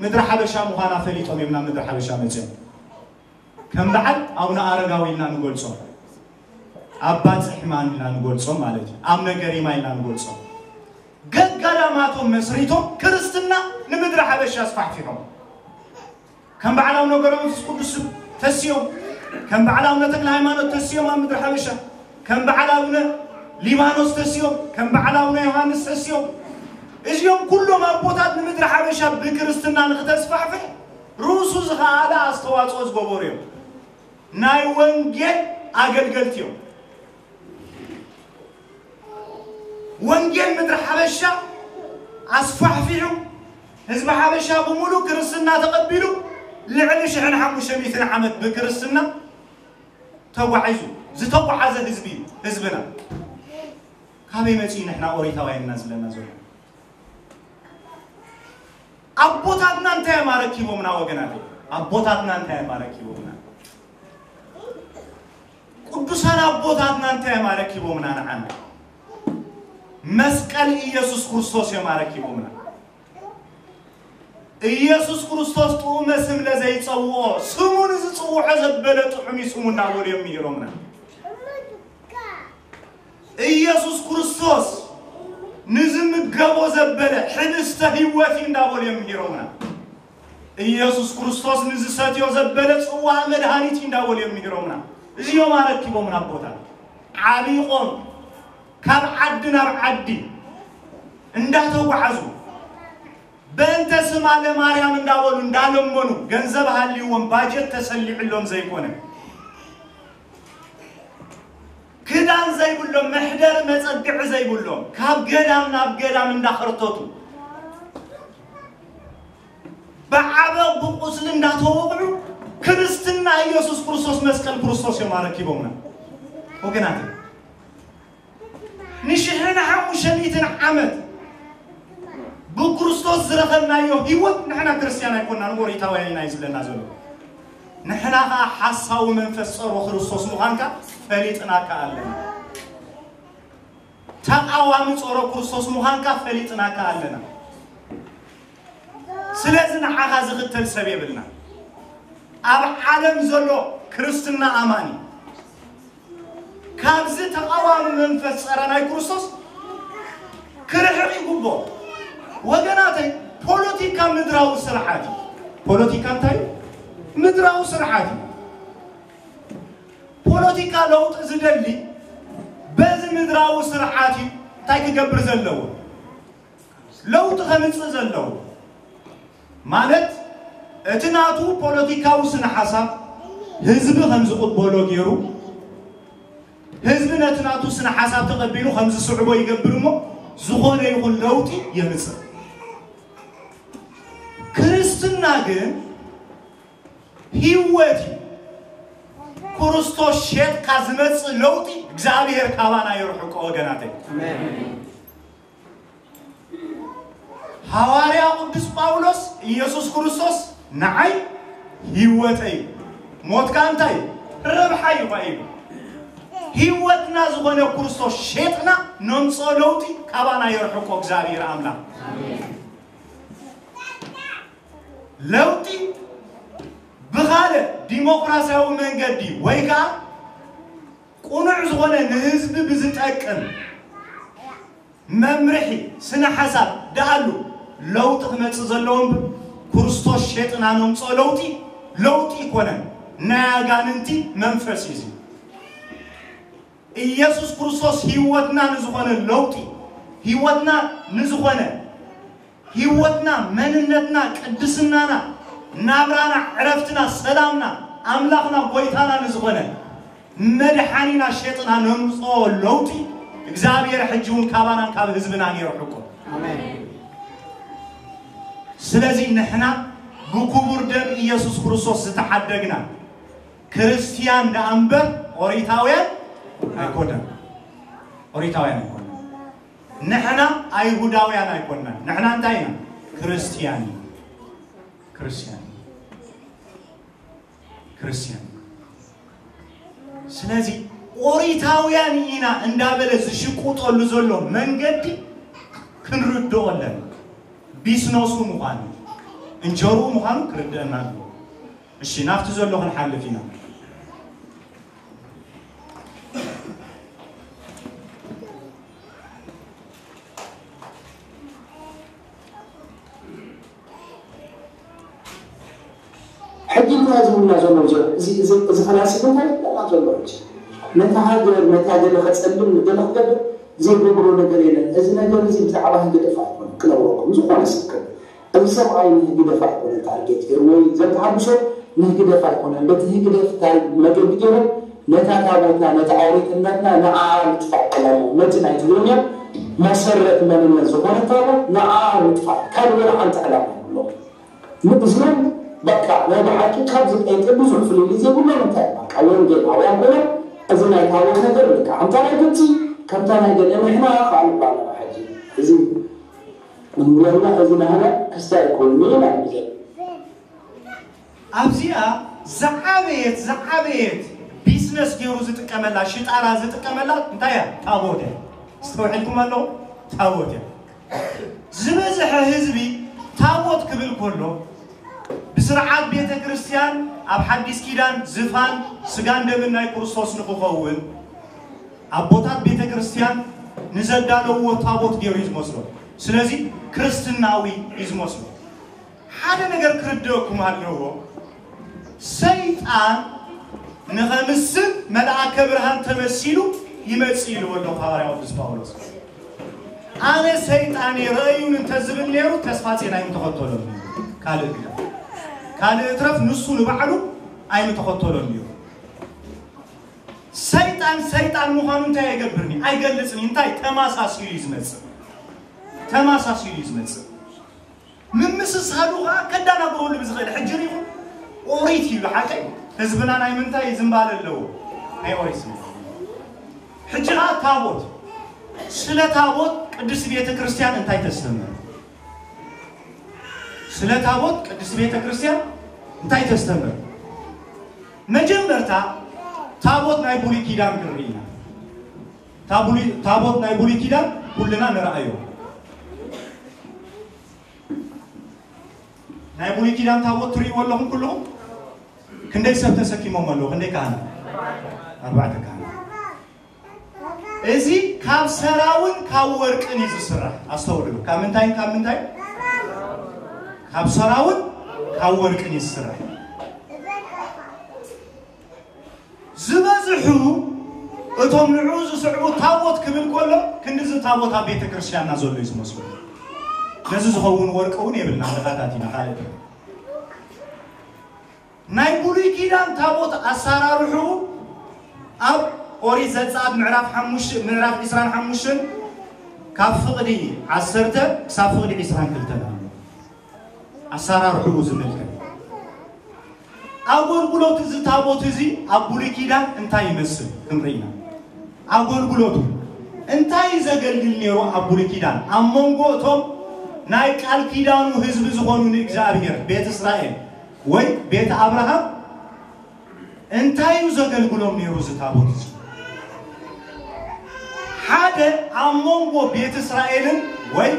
ምድሪ ሓበሻ ምዃና ፈሊጦም እዮም ናብ ምድሪ ሓበሻ መፅኦም። ከም በዓል ኣቡነ ኣረጋዊ ኢልና ንገልጾም፣ ኣባ ጽሕማን ኢልና ንገልጾም ማለት እዩ። ኣቡነ ገሪማ ኢልና ንገልጾም። ገዳማቶም መስሪቶም ክርስትና ንምድሪ ሓበሻ ኣስፋሕፊሖም። ከም በዓል ኣቡነ ገብረመንፈስ ቅዱስ ተስዮም፣ ከም በዓል ኣቡነ ተክለ ሃይማኖት ተስዮም ኣብ ምድሪ ሓበሻ፣ ከም በዓል ኣቡነ ሊባኖስ ተስዮም፣ ከም በዓል ኣቡነ ዮሃንስ ተስዮም፣ እዚኦም ኩሎም ኣቦታት ንምድሪ ሓበሻ ብክርስትና ንክተስፋሕፍሕ ርእሱ ዝኸኣለ ኣስተዋፅኦ ዝገበሩ እዮም። ናይ ወንጌል ኣገልገልቲ እዮም። ወንጌል ምድሪ ሓበሻ ኣስፋሕፊሑ፣ ህዝቢ ሓበሻ ብምሉእ ክርስትና ተቐቢሉ፣ ልዕሊ ሽሕን ሓሙሽተ ሚእትን ዓመት ብክርስትና ተጓዒዙ ዝተጓዓዘ ህዝቢ እዩ ህዝብና። ካበይ መፂኡ ንሕና ኦሪታውያን ኢና ዝብለና ዘሎ? ኣቦታትና እንታይ እዮም ኣረኪቦምና ወገናት? ኣቦታትና እንታይ እዮም ኣረኪቦምና? ቅዱሳን ኣቦታትና እንታይ እዮም ኣረኪቦምና ንዓና? መስቀል ኢየሱስ ክርስቶስ እዮም ኣረኪቦምና። ኢየሱስ ክርስቶስ ጥዑመ ስም ለዘይጸውዖ፣ ስሙ ንዝጽውዖ ዘበለ ጥዑም እዩ ስሙ እናበሉ እዮም ምሂሮምና። ኢየሱስ ክርስቶስ ንዝምገቦ ዘበለ ሕብስተ ህይወት እዩ እንዳበሉ እዮም ምሂሮምና። ኢየሱስ ክርስቶስ ንዝሰትዮ ዘበለ ጽዋ መድሃኒት እዩ እንዳበሉ እዮም ምሂሮምና። እዚኦም ኣረኪቦምና ኣቦታት ዓቢቆም ካብ ዓዲ ናብ ዓዲ እንዳተጓዓዙ በእንተ ስማ ለማርያም እንዳበሉ እንዳለመኑ ገንዘብ ሃልይዎም ባጀት ተሰሊዕሎም ዘይኮነ ክዳን ዘይብሎም መሕደሪ መጸግዒ ዘይብሎም ካብ ገዳም ናብ ገዳም እንዳኸርተቱ ብዓበቕ ብቁስሊ እንዳተወቕዑ ክርስትና ኢየሱስ ክርስቶስ መስቀል ክርስቶስ እዮም ኣረኪቦምና ወገናት። ንሽሕን ሓሙሽተ ሚእትን ዓመት ብክርስቶስ ዝረኸብናዮ ህይወት ንሕና ክርስትያን ኣይኮናን፣ ኦሪታውያን ኢና እዩ ዝብለና ዘሎ። ንሕና ኸዓ ሓሳዊ መንፈስ ጸሮ ክርስቶስ ምዃንካ ፈሊጥናካ ኣለና። ተቃዋሚ ጸሮ ክርስቶስ ምዃንካ ፈሊጥናካ ኣለና። ስለዚ ንዓኻ ዝኽተል ሰብ የብልና። ኣብ ዓለም ዘሎ ክርስትና ኣማኒ ካብዚ ተቃዋሚ መንፈስ ጸረ ናይ ክርስቶስ ክርሕቕ ይግብኦ። ወገናተይ፣ ፖለቲካ ምድራዊ ስርዓት እዩ። ፖለቲካ እንታይ እዩ? ምድራዊ ስርዓት እዩ። ፖለቲካ ለውጢ ዝደሊ በዚ ምድራዊ ስርዓት እዩ እንታይ ክገብር ዘለዎ? ለውጢ ከምጽእ ዘለዎ። ማለት እቲ ናቱ ፖለቲካዊ ስነ ሓሳብ ህዝቢ ከም ዝቕበሎ ገይሩ፣ ህዝቢ ነቲ ናቱ ስነ ሓሳብ ተቐቢሉ ከም ዝስዕቦ ይገብር እሞ ዝኾነ ይኹን ለውጢ የምጽእ። ክርስትና ግን ህይወት እዩ። ክርስቶስ ሸጥካ ዝመጽእ ለውጢ እግዚኣብሔር ካባና የርሕቆ ወገናተይ። ኣሜን። ሃዋርያ ቅዱስ ጳውሎስ ኢየሱስ ክርስቶስ ንዓይ ህይወተይ እዩ፣ ሞትካ እንታይ ረብሓ እዩ ኢሉ። ህይወትና ዝኾነ ክርስቶስ ሸጥና ነምጽኦ ለውጢ ካባና የርሕቆ እግዚኣብሔር ኣምላኽ። ለውጢ ብኻልእ ዲሞክራሲያዊ መንገዲ ወይ ከዓ ቅኑዕ ዝኾነ ንህዝቢ ብዝጠቅም መምርሒ ስነ ሓሳብ ደኣሉ ለውጢ ክመጽእ ዘለዎ እምበር ክርስቶስ ሸጥና ነምጽኦ ለውጢ ለውጢ ይኮነን፣ ናይ ኣጋንንቲ መንፈስ እዩ። ኢየሱስ ክርስቶስ ህይወትና ንዝኾነ ለውጢ፣ ህይወትና ንዝኾነ ህይወትና፣ መንነትና፣ ቅድስናና፣ ናብራና፣ ዕረፍትና፣ ሰላምና፣ ኣምላኽና፣ ጎይታና ንዝኾነ መድሓኒና ሸጥና ነምፅኦ ለውጢ እግዚኣብሔር ሕጂ እውን ካባናን ካብ ህዝብናን የርሕቆ። ኣሜን። ስለዚ ንሕና ብክቡር ደም ኢየሱስ ክርስቶስ ዝተሓደግና ክርስትያን ደኣ እምበር ኦሪታውያን ኣይኮነን። ኦሪታውያን ኣይኮነን። ንሕና ኣይሁዳውያን ኣይኮንናን። ንሕና እንታይ ኢና? ክርስትያን ኢና። ክርስትያን ኢና። ክርስትያን ኢና። ስለዚ ኦሪታውያን ኢና እንዳበለ ዝሽቁጠሉ ዘሎ መንገዲ ክንርድኦ ኣለና። ቢስነሱ ምዃኑ፣ እንጀርኡ ምዃኑ ክርድአና ኣለዎ። እሺ፣ ናብቲ ዘሎ ክንሓልፍ ኢና። ሕጂ እንታይ ዝብሉና ዘሎ? እዚ፣ እዚ፣ እዚ ፈላሲ እንታይ ይብለና ዘሎ? ሕጂ ነታ ሃገር፣ ነታ ገለ ከጸልም፣ ገለ ክገብር ዘይገብሮ ነገር የለን። እዚ ነገር እዚ ብዛዕባ ህግደፍ ኣይኮነን ክነግረኩም፣ ዝኾነ ሰብ ክብል። እዚ ሰብኣይ ንህግደፍ ኣይኮነን ታርጌት ገይሩ፣ ወይ ዘተሃድሶ ንህግደፍ ኣይኮነን። በቲ ህግደፍ ታይ መገዲ ገይሮም ነታ ታቦትና፣ ነታ ኣውሬትነትና ንዓ ምጥፋእ ዕላማ፣ ነቲ ናይ ትግርኛ መሰረት መንነት ዝኾነ ታቦት ንዓ ምጥፋእ ካልእ ወላ ሓንቲ ዕላማ የብሎም። ንእዚኦም በቃ ናይ ብሓቂ ካብዚ ጴንጤ ብዙሕ ፍልልይ ዘይብሎም እንታይ በቃ ወንጌላውያን ኮይኖም እዚ ናይ ታቦት ነገር ልክዕ ከምታ ናይ ግብፂ ከምታ ናይ ገለ ንሕና ከዓ ንባል ኣለና። ሕጂ እዚ እንብለና እዚ ናህና ክስታይ ኣይኮንኒ ኢና ግዜ ኣብዚኣ ዝዓበየት ዝዓበየት ቢዝነስ ገይሩ ዝጥቀመላ ሽጣራ ዝጥቀመላ እንታይ እያ? ታቦት እያ። ኣስተውዒልኩም ኣሎ? ታቦት እያ። ዝበዝሐ ህዝቢ ታቦት ክብል ከሎ ብስርዓት ቤተ ክርስቲያን ኣብ ሓዲስ ኪዳን ዝፋን ስጋን ደምን ናይ ክርስቶስ ንክኸውን ኣቦታት ቤተ ክርስቲያን ንዘዳለውዎ ታቦት ገይሩ እዩ ዝመስሎ። ስለዚ ክርስትናዊ እዩ ዝመስሎ። ሓደ ነገር ክርድእኩም ኣለዎ። ሰይጣን ንኸምስል መልኣከ ብርሃን ተመሲሉ ይመጽእ ኢልዎ ኣሎ ሃዋርያ ቅዱስ ጳውሎስ። ኣነ ሰይጣን እየ ረእዩን እንተዝብል ነይሩ ተስፋ ጼና ኣይምተኸተሎን እዩ። ካልእ ግዳ ካልእ እትረፍ ንሱ ንባዕሉ ኣይምተኸተሎን እዩ። ሰይጣን ሰይጣን ምዃኑ እንታይ ኣይገብርኒ ኣይገልጽኒ እንታይ ተማሳሲሉ እዩ ዝመጽእ። ተማሳሲሉ እዩ ዝመጽእ። ምምስሳሉ ከዓ ከዳናግረሉ ብዝኽእል ሕጂ ሪኹም ኦሪት እዩ ሓቀይ ህዝብና ናይ ምንታይ ዝንባለ ኣለዎ ናይ ኦሪት ዝንባለ ሕጂ ከዓ ታቦት ስለ ታቦት ቅድስት ቤተ ክርስቲያን እንታይ ተስተምር ስለ ታቦት ቅድስት ቤተ ክርስቲያን እንታይ ተስተምር መጀመርታ ታቦት ናይ ብሉይ ኪዳን ክንርኢ ኢና ታቦት ናይ ብሉይ ኪዳን ኩልና ንረኣዮ ናይ ብሉይ ኪዳን ታቦት ትርእይዎ ኣለኹም ኩልኹም ክንደይ ሰብ ተሰኪሞም ኣለዉ ክንደይ ካህናት ኣርባዕተ ካህናት እዚ ካብ ሰራውን ካብ ወርቅን እዩ ዝስራሕ ኣስተውዕሉ ካብ ምንታይን ካብ ምንታይ ካብ ሰራውን ካብ ወርቅን እዩ ዝስራሕ ዝበዝሑ እቶም ንዕኡ ዝስዕቡ ታቦት ክብል ከሎ ክንድዚ ታቦት ኣብ ቤተ ክርስቲያንና ዘሎ እዩ ዝመስሉ ነዚ ዝኸውን ወርቂ እውን የብልና ንኻታት ኢና ካልእ ናይ ብሉይ ኪዳን ታቦት ኣሰራርሑ ኣብ ኦሪት ዘጸኣት ምዕራፍ ሓሙሽተ ምዕራፍ ዕስራን ሓሙሽተን ካብ ፍቕዲ ዓሰርተ ክሳብ ፍቕዲ ዕስራን ክልተን ኣሎ ኣሰራርሑ ዝምልከት ኣገልግሎት እዚ ታቦት እዚ ኣብ ብሉይ ኪዳን እንታይ ይመስል ክንርኢ ኢና ኣገልግሎቱ እንታይ ዘገልግል ነይሩ ኣብ ብሉይ ኪዳን ኣብ መንጎ እቶም ናይ ቃል ኪዳኑ ህዝቢ ዝኾኑ ንእግዚኣብሔር ቤት እስራኤል ወይ ቤት ኣብርሃም እንታይ እዩ ዘገልግሎም ነይሩ እዚ ታቦት እዚ ሓደ ኣብ መንጎ ቤት እስራኤልን ወይ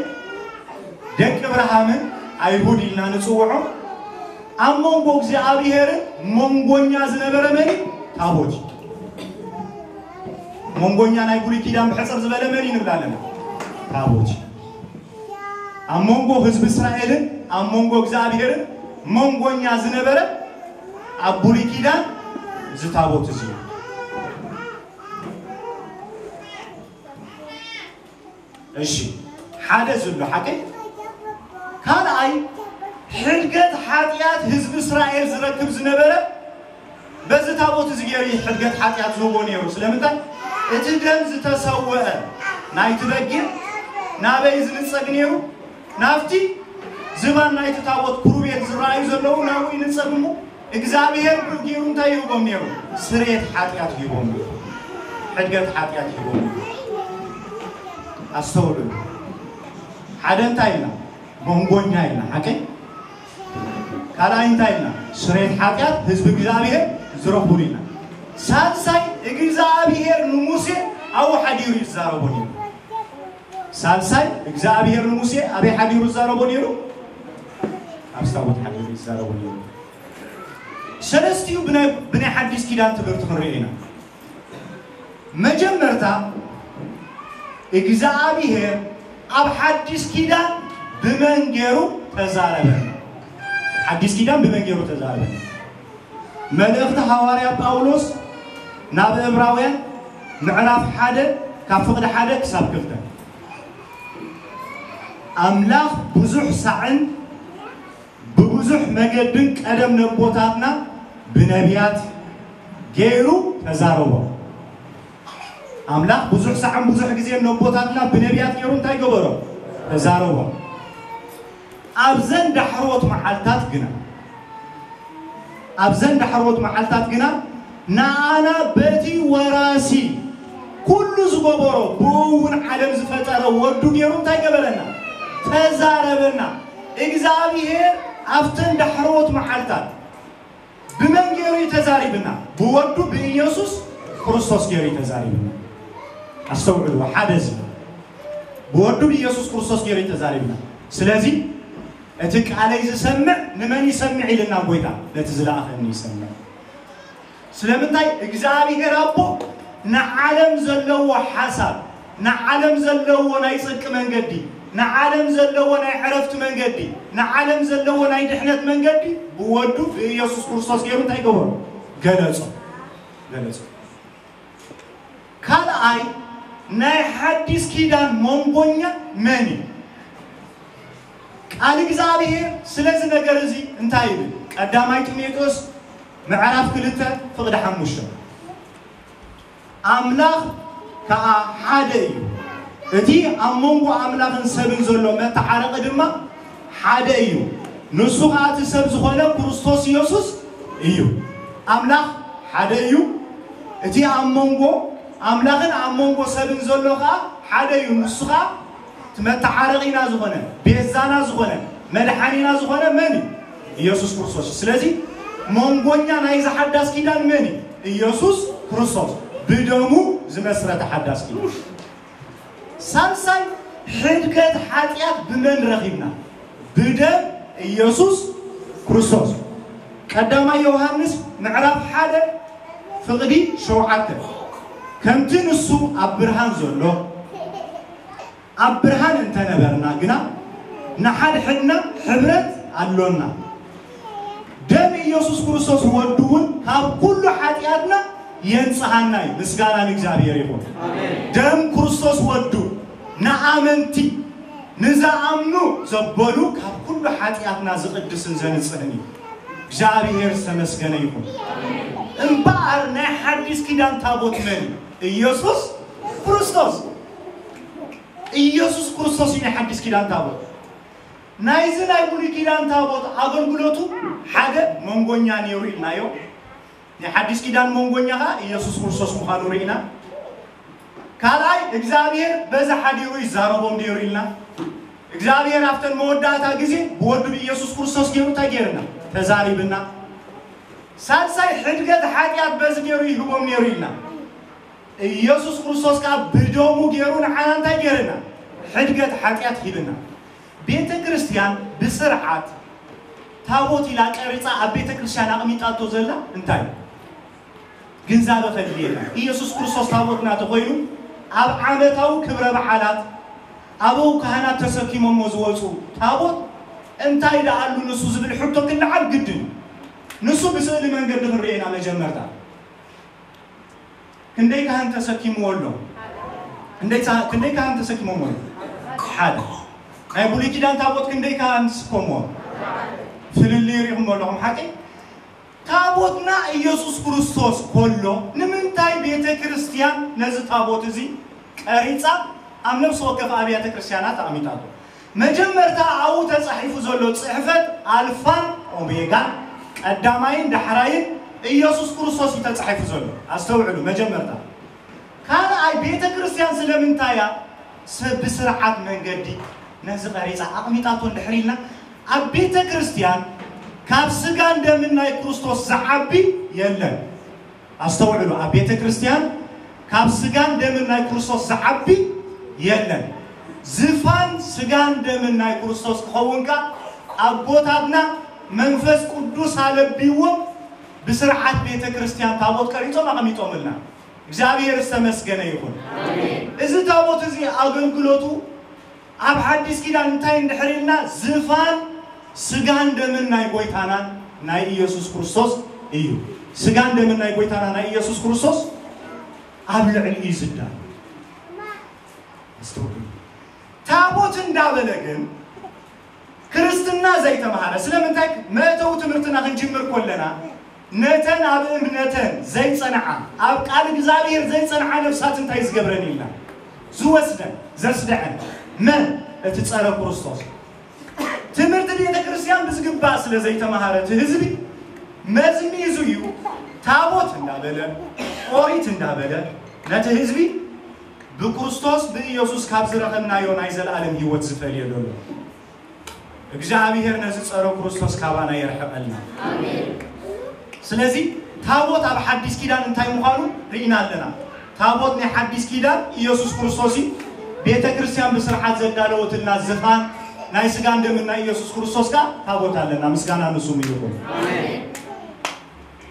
ደቂ እብርሃምን ኣይሁድ ኢልና ንፅውዖ ኣብ መንጎ እግዚኣብሔርን መንጎኛ ዝነበረ መን ታቦት መንጎኛ ናይ ብሉይ ኪዳን ብሕፅር ዝበለ መን ንብላለን ታቦት ኣብ መንጎ ህዝቢ እስራኤልን ኣብ መንጎ እግዚኣብሔርን መንጎኛ ዝነበረ ኣብ ብሉይ ኪዳን እዚ ታቦት እዚ እሺ ሓደ ዝብሎ ሓቂ ካልኣይ ሕድገት ሓጢኣት ህዝቢ እስራኤል ዝረክብ ዝነበረ በዚ ታቦት እዚ ገይሩ ሕድገት ሓጢኣት ዝህቦ ነይሩ ስለምንታይ እቲ ደም ዝተሰወአ ናይቲ በጊዕ ናበይ ዝንፀግ ነይሩ ናብቲ ዝባን ናይቲ ታቦት ክሩቤል ዝረኣዩ ዘለዉ ናብኡ ይንፀግ እሞ እግዚኣብሔር ብኡ ገይሩ እንታይ ይህቦም ነይሩ ስርየት ሓጢኣት ይህቦም ነይሩ ሕድገት ሓጢኣት ይህቦም ነይሩ ኣስተውዕሉ ሓደ እንታይ ኢልና መንጎኛ ኢልና ሓቀይ ካልኣይ እንታይ ኢልና ስርየት ሓጢኣት ህዝቢ እግዚኣብሔር ዝረኽቡሉ ኢና ሳልሳይ እግዚኣብሔር ንሙሴ ኣብኡ ሓዲሩ ይዛረቦ ነይሩ ሳልሳይ እግዚኣብሔር ንሙሴ ኣበይ ሓዲሩ ይዛረቦ ነይሩ ኣብ ታቦት ሓዲሩ ይዛረቦ ነይሩ ሰለስቲኡ ብናይ ሓዲስ ኪዳን ትምህርቲ ክንሪኦ ኢና መጀመርታ እግዚኣብሔር ኣብ ሓዲስ ኪዳን ብመን ገይሩ ተዛረበ ሓዲስ ኪዳን ብመን ገይሩ ተዛረበ መልእኽቲ ሃዋርያ ጳውሎስ ናብ እብራውያን ምዕራፍ ሓደ ካብ ፍቕዲ ሓደ ክሳብ ክልተ ኣምላኽ ብዙሕ ሳዕን ብብዙሕ መገድን ቀደም ነቦታትና ብነቢያት ገይሩ ተዛረቦም ኣምላኽ ብዙሕ ሳዕን ብዙሕ ግዜን ነቦታትና ብነቢያት ገይሩ እንታይ ገበሮ? ተዛረቦም። ኣብዘን ዳሕሮት መዓልታት ግና ኣብዘን ዳሕሮት መዓልታት ግና ንኣና በቲ ወራሲ ኩሉ ዝገበሮ ብኡ እውን ዓለም ዝፈጠረ ወዱ ገይሩ እንታይ ገበረና? ተዛረበና። እግዚኣብሔር ኣብተን ዳሕሮት መዓልታት ብመን ገይሩ እዩ ተዛሪብና? ብወዱ ብኢየሱስ ክርስቶስ ገይሩ እዩ ተዛሪብና። ኣስተውዕሉ፣ ሓደ እዚ ብወዱ ብኢየሱስ ክርስቶስ ገይሩ እዩ ተዛሪብና። ስለዚ እቲ ቃለይ ዝሰምዕ ንመን ይሰምዕ ኢልና ጎይታ? ነቲ ዝለኣኸኒ ይሰምዕ። ስለምንታይ? እግዚኣብሔር ኣቦ ንዓለም ዘለዎ ሓሳብ፣ ንዓለም ዘለዎ ናይ ጽድቂ መንገዲ፣ ንዓለም ዘለዎ ናይ ዕረፍቲ መንገዲ፣ ንዓለም ዘለዎ ናይ ድሕነት መንገዲ ብወዱ ብኢየሱስ ክርስቶስ ገይሩ እንታይ ገበሮ? ገለጾ። ገለጾ። ካልኣይ ናይ ሓዲስ ኪዳን መንጎኛ መን እዩ? ቃል እግዚኣብሔር ስለዚ ነገር እዚ እንታይ ይብል? ቀዳማይ ጢሞቴዎስ ምዕራፍ ክልተ ፍቕዲ ሓሙሽተ፣ ኣምላኽ ከኣ ሓደ እዩ። እቲ ኣብ መንጎ ኣምላኽን ሰብን ዘሎ መተዓረቒ ድማ ሓደ እዩ። ንሱ ከኣ እቲ ሰብ ዝኾነ ክርስቶስ ኢየሱስ እዩ። ኣምላኽ ሓደ እዩ። እቲ ኣብ መንጎ ኣምላኽን ኣብ መንጎ ሰብን ዘሎ ከኣ ሓደ እዩ። ንሱ ከኣ እቲ መተዓረቒና ዝኾነ፣ ቤዛና ዝኾነ፣ መድሓኒና ዝኾነ መን እዩ? ኢየሱስ ክርስቶስ። ስለዚ መንጎኛ ናይዚ ሓዳስ ኪዳን መን እዩ? ኢየሱስ ክርስቶስ። ብደሙ ዝመስረተ ሓዳስ ኪዳን። ሳልሳይ ሕድገት ሓጢኣት ብመን ረኺብና? ብደም ኢየሱስ ክርስቶስ። ቀዳማይ ዮሃንስ ምዕራፍ ሓደ ፍቕዲ ሸውዓተ፣ ከምቲ ንሱ ኣብ ብርሃን ዘሎ ኣብ ብርሃን እንተነበርና ግና ንሓድሕድና ሕብረት ኣሎና። ደም ኢየሱስ ክርስቶስ ወዱ እውን ካብ ኩሉ ሓጢኣትና የንጽሃና እዩ። ምስጋና ንእግዚኣብሔር ይኹን። ኣሜን። ደም ክርስቶስ ወዱ ንኣመንቲ ንዝኣምኑ ዘበሉ ካብ ኩሉ ሓጢኣትና ዝቕድስን ዘንጽህን እዩ። እግዚኣብሔር ዝተመስገነ ይኹን። እምበኣር ናይ ሓዲስ ኪዳን ታቦት መን እዩ? ኢየሱስ ክርስቶስ። ኢየሱስ ክርስቶስ እዩ ናይ ሓዲስ ኪዳን ታቦት። ናይዚ ናይ ብሉይ ኪዳን ታቦት ኣገልግሎቱ ሓደ መንጎኛ ነይሩ ኢልናዮ። ናይ ሓዲስ ኪዳን መንጎኛ ኸዓ ኢየሱስ ክርስቶስ ምዃኑ ርኢና። ካልኣይ እግዚኣብሔር በዚ ሓዲሩ ይዛረቦም ነይሩ ኢልና። እግዚኣብሔር ኣብተን መወዳእታ ግዜ ብወዱ ብኢየሱስ ክርስቶስ ገይሩ እንታይ ገይርና? ተዛሪብና። ሳልሳይ ሕድገት ሓጢኣት በዚ ገይሩ ይህቦም ነይሩ ኢልና። ኢየሱስ ክርስቶስ ከዓ ብደሙ ገይሩ ንዓና እንታይ ገይርና? ሕድገት ሓጢኣት ሂብና። ቤተ ክርስቲያን ብስርዓት ታቦት ኢላ ቀሪጻ ኣብ ቤተ ክርስቲያን ኣቕሚጣቶ ዘላ እንታይ ግንዛበ ከድልየና? ኢየሱስ ክርስቶስ ታቦትና ተኾይኑ ኣብ ዓመታዊ ክብረ በዓላት ኣበው ካህናት ተሰኪሞሞ ዝወፁ ታቦት እንታይ ደኣሉ ንሱ ዝብል ሕቶ ክለዓል ግድን እዩ። ንሱ ብስእሊ መንገዲ ክንርእየና መጀመርታ ክንደይ ካህን ተሰኪምዎ ኣሎ? ክንደይ ሳ- ክንደይ ካህን ተሰኪሞሞ ኣሎ? ሓደ። ናይ ብሉይ ኪዳን ታቦት ክንደይ ካህን ዝስከምዎ? ፍልልይ ሪኹም ኣለኹም ሓቂ? ታቦትና ኢየሱስ ክርስቶስ ከሎ ንምንታይ ቤተ ክርስቲያን ነዚ ታቦት እዚ ቀሪጻ ኣብ ነፍሲ ወከፍ ኣብያተ ክርስቲያናት ኣቐሚጣቶ? መጀመርታ ኣብኡ ተጻሒፉ ዘሎ ጽሕፈት ኣልፋን ኦሜጋን ቀዳማይን ዳሕራይን ኢየሱስ ክርስቶስ እዩ ተጻሒፉ ዘሎ። ኣስተውዕሉ፣ መጀመርታ። ካልኣይ፣ ቤተ ክርስቲያን ስለምንታይ እያ ሰብ ብስርዓት መንገዲ ነዚ ቀሪጻ ኣቕሚጣቶ እንድሕር ኢልና፣ ኣብ ቤተ ክርስቲያን ካብ ስጋን ደምን ናይ ክርስቶስ ዝዓቢ የለን። ኣስተውዕሉ፣ ኣብ ቤተ ክርስቲያን ካብ ስጋን ደምን ናይ ክርስቶስ ዝዓቢ የለን። ዝፋን ስጋን ደምን ናይ ክርስቶስ ክኸውን ከኣ ኣቦታትና መንፈስ ቅዱስ ኣለቢዎም ብስርዓት ቤተ ክርስቲያን ታቦት ቀሪጾም ኣቐሚጦምልና። እግዚኣብሔር ዝተመስገነ ይኹን። እዚ ታቦት እዚ ኣገልግሎቱ ኣብ ሓዲስ ኪዳን እንታይ እንድሕር ኢልና ዝፋን ስጋን ደምን ናይ ጎይታናን ናይ ኢየሱስ ክርስቶስ እዩ። ስጋን ደምን ናይ ጎይታና ናይ ኢየሱስ ክርስቶስ ኣብ ልዕሊ እዩ ዝዳሎ። ኣስተውዕሉ። ታቦት እንዳበለ ግን ክርስትና ዘይተማሃረ ስለምንታይ መእተዊ ትምህርትና ክንጅምር ከለና ነተን ኣብ እምነተን ዘይጸንዓ፣ ኣብ ቃል እግዚኣብሔር ዘይጸንዓ ነፍሳት እንታይ ዝገብረን ኢልና? ዝወስደን ዘስደዐን መን? እቲ ጸረ ክርስቶስ። ትምህርቲ ቤተ ክርስቲያን ብዝግባእ ስለ ዘይተማሃረ እቲ ህዝቢ መዝሚዙ እዩ ታቦት እንዳበለ ኦሪት እንዳበለ ነቲ ህዝቢ ብክርስቶስ ብኢየሱስ ካብ ዝረኸብናዮ ናይ ዘለኣለም ህይወት ዝፈልዮ ዘሎ። እግዚኣብሔር ነዚ ጸረ ክርስቶስ ካባና የርሕቐልና። ስለዚ ታቦት ኣብ ሓዲስ ኪዳን እንታይ ምዃኑ ርኢና ኣለና። ታቦት ናይ ሓዲስ ኪዳን ኢየሱስ ክርስቶስ እዩ። ቤተ ክርስቲያን ብስርዓት ዘዳለወትልና ዝፋን ናይ ስጋን ደምን ናይ ኢየሱስ ክርስቶስ ከኣ ታቦት ኣለና። ምስጋና ንስሙ ይኹን።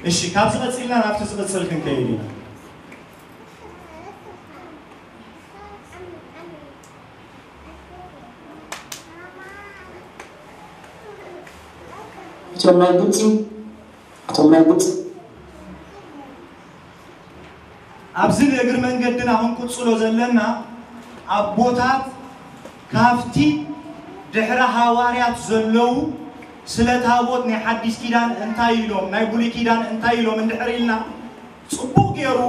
እሺ፣ ካብዚ ቀጺልና ናብቲ ዝቕጽል ክንከይድ ኢና። እቶም ናይ ግብፂ እቶም ናይ ግብፂ ኣብዚ ንእግሪ መንገድና ክንቅፅሎ ዘለና ኣቦታት ካብቲ ድሕሪ ሃዋርያት ዘለዉ ስለ ታቦት ናይ ሓዲስ ኪዳን እንታይ ኢሎም ናይ ብሉይ ኪዳን እንታይ ኢሎም እንድሕር ኢልና ፅቡቕ ገይሩ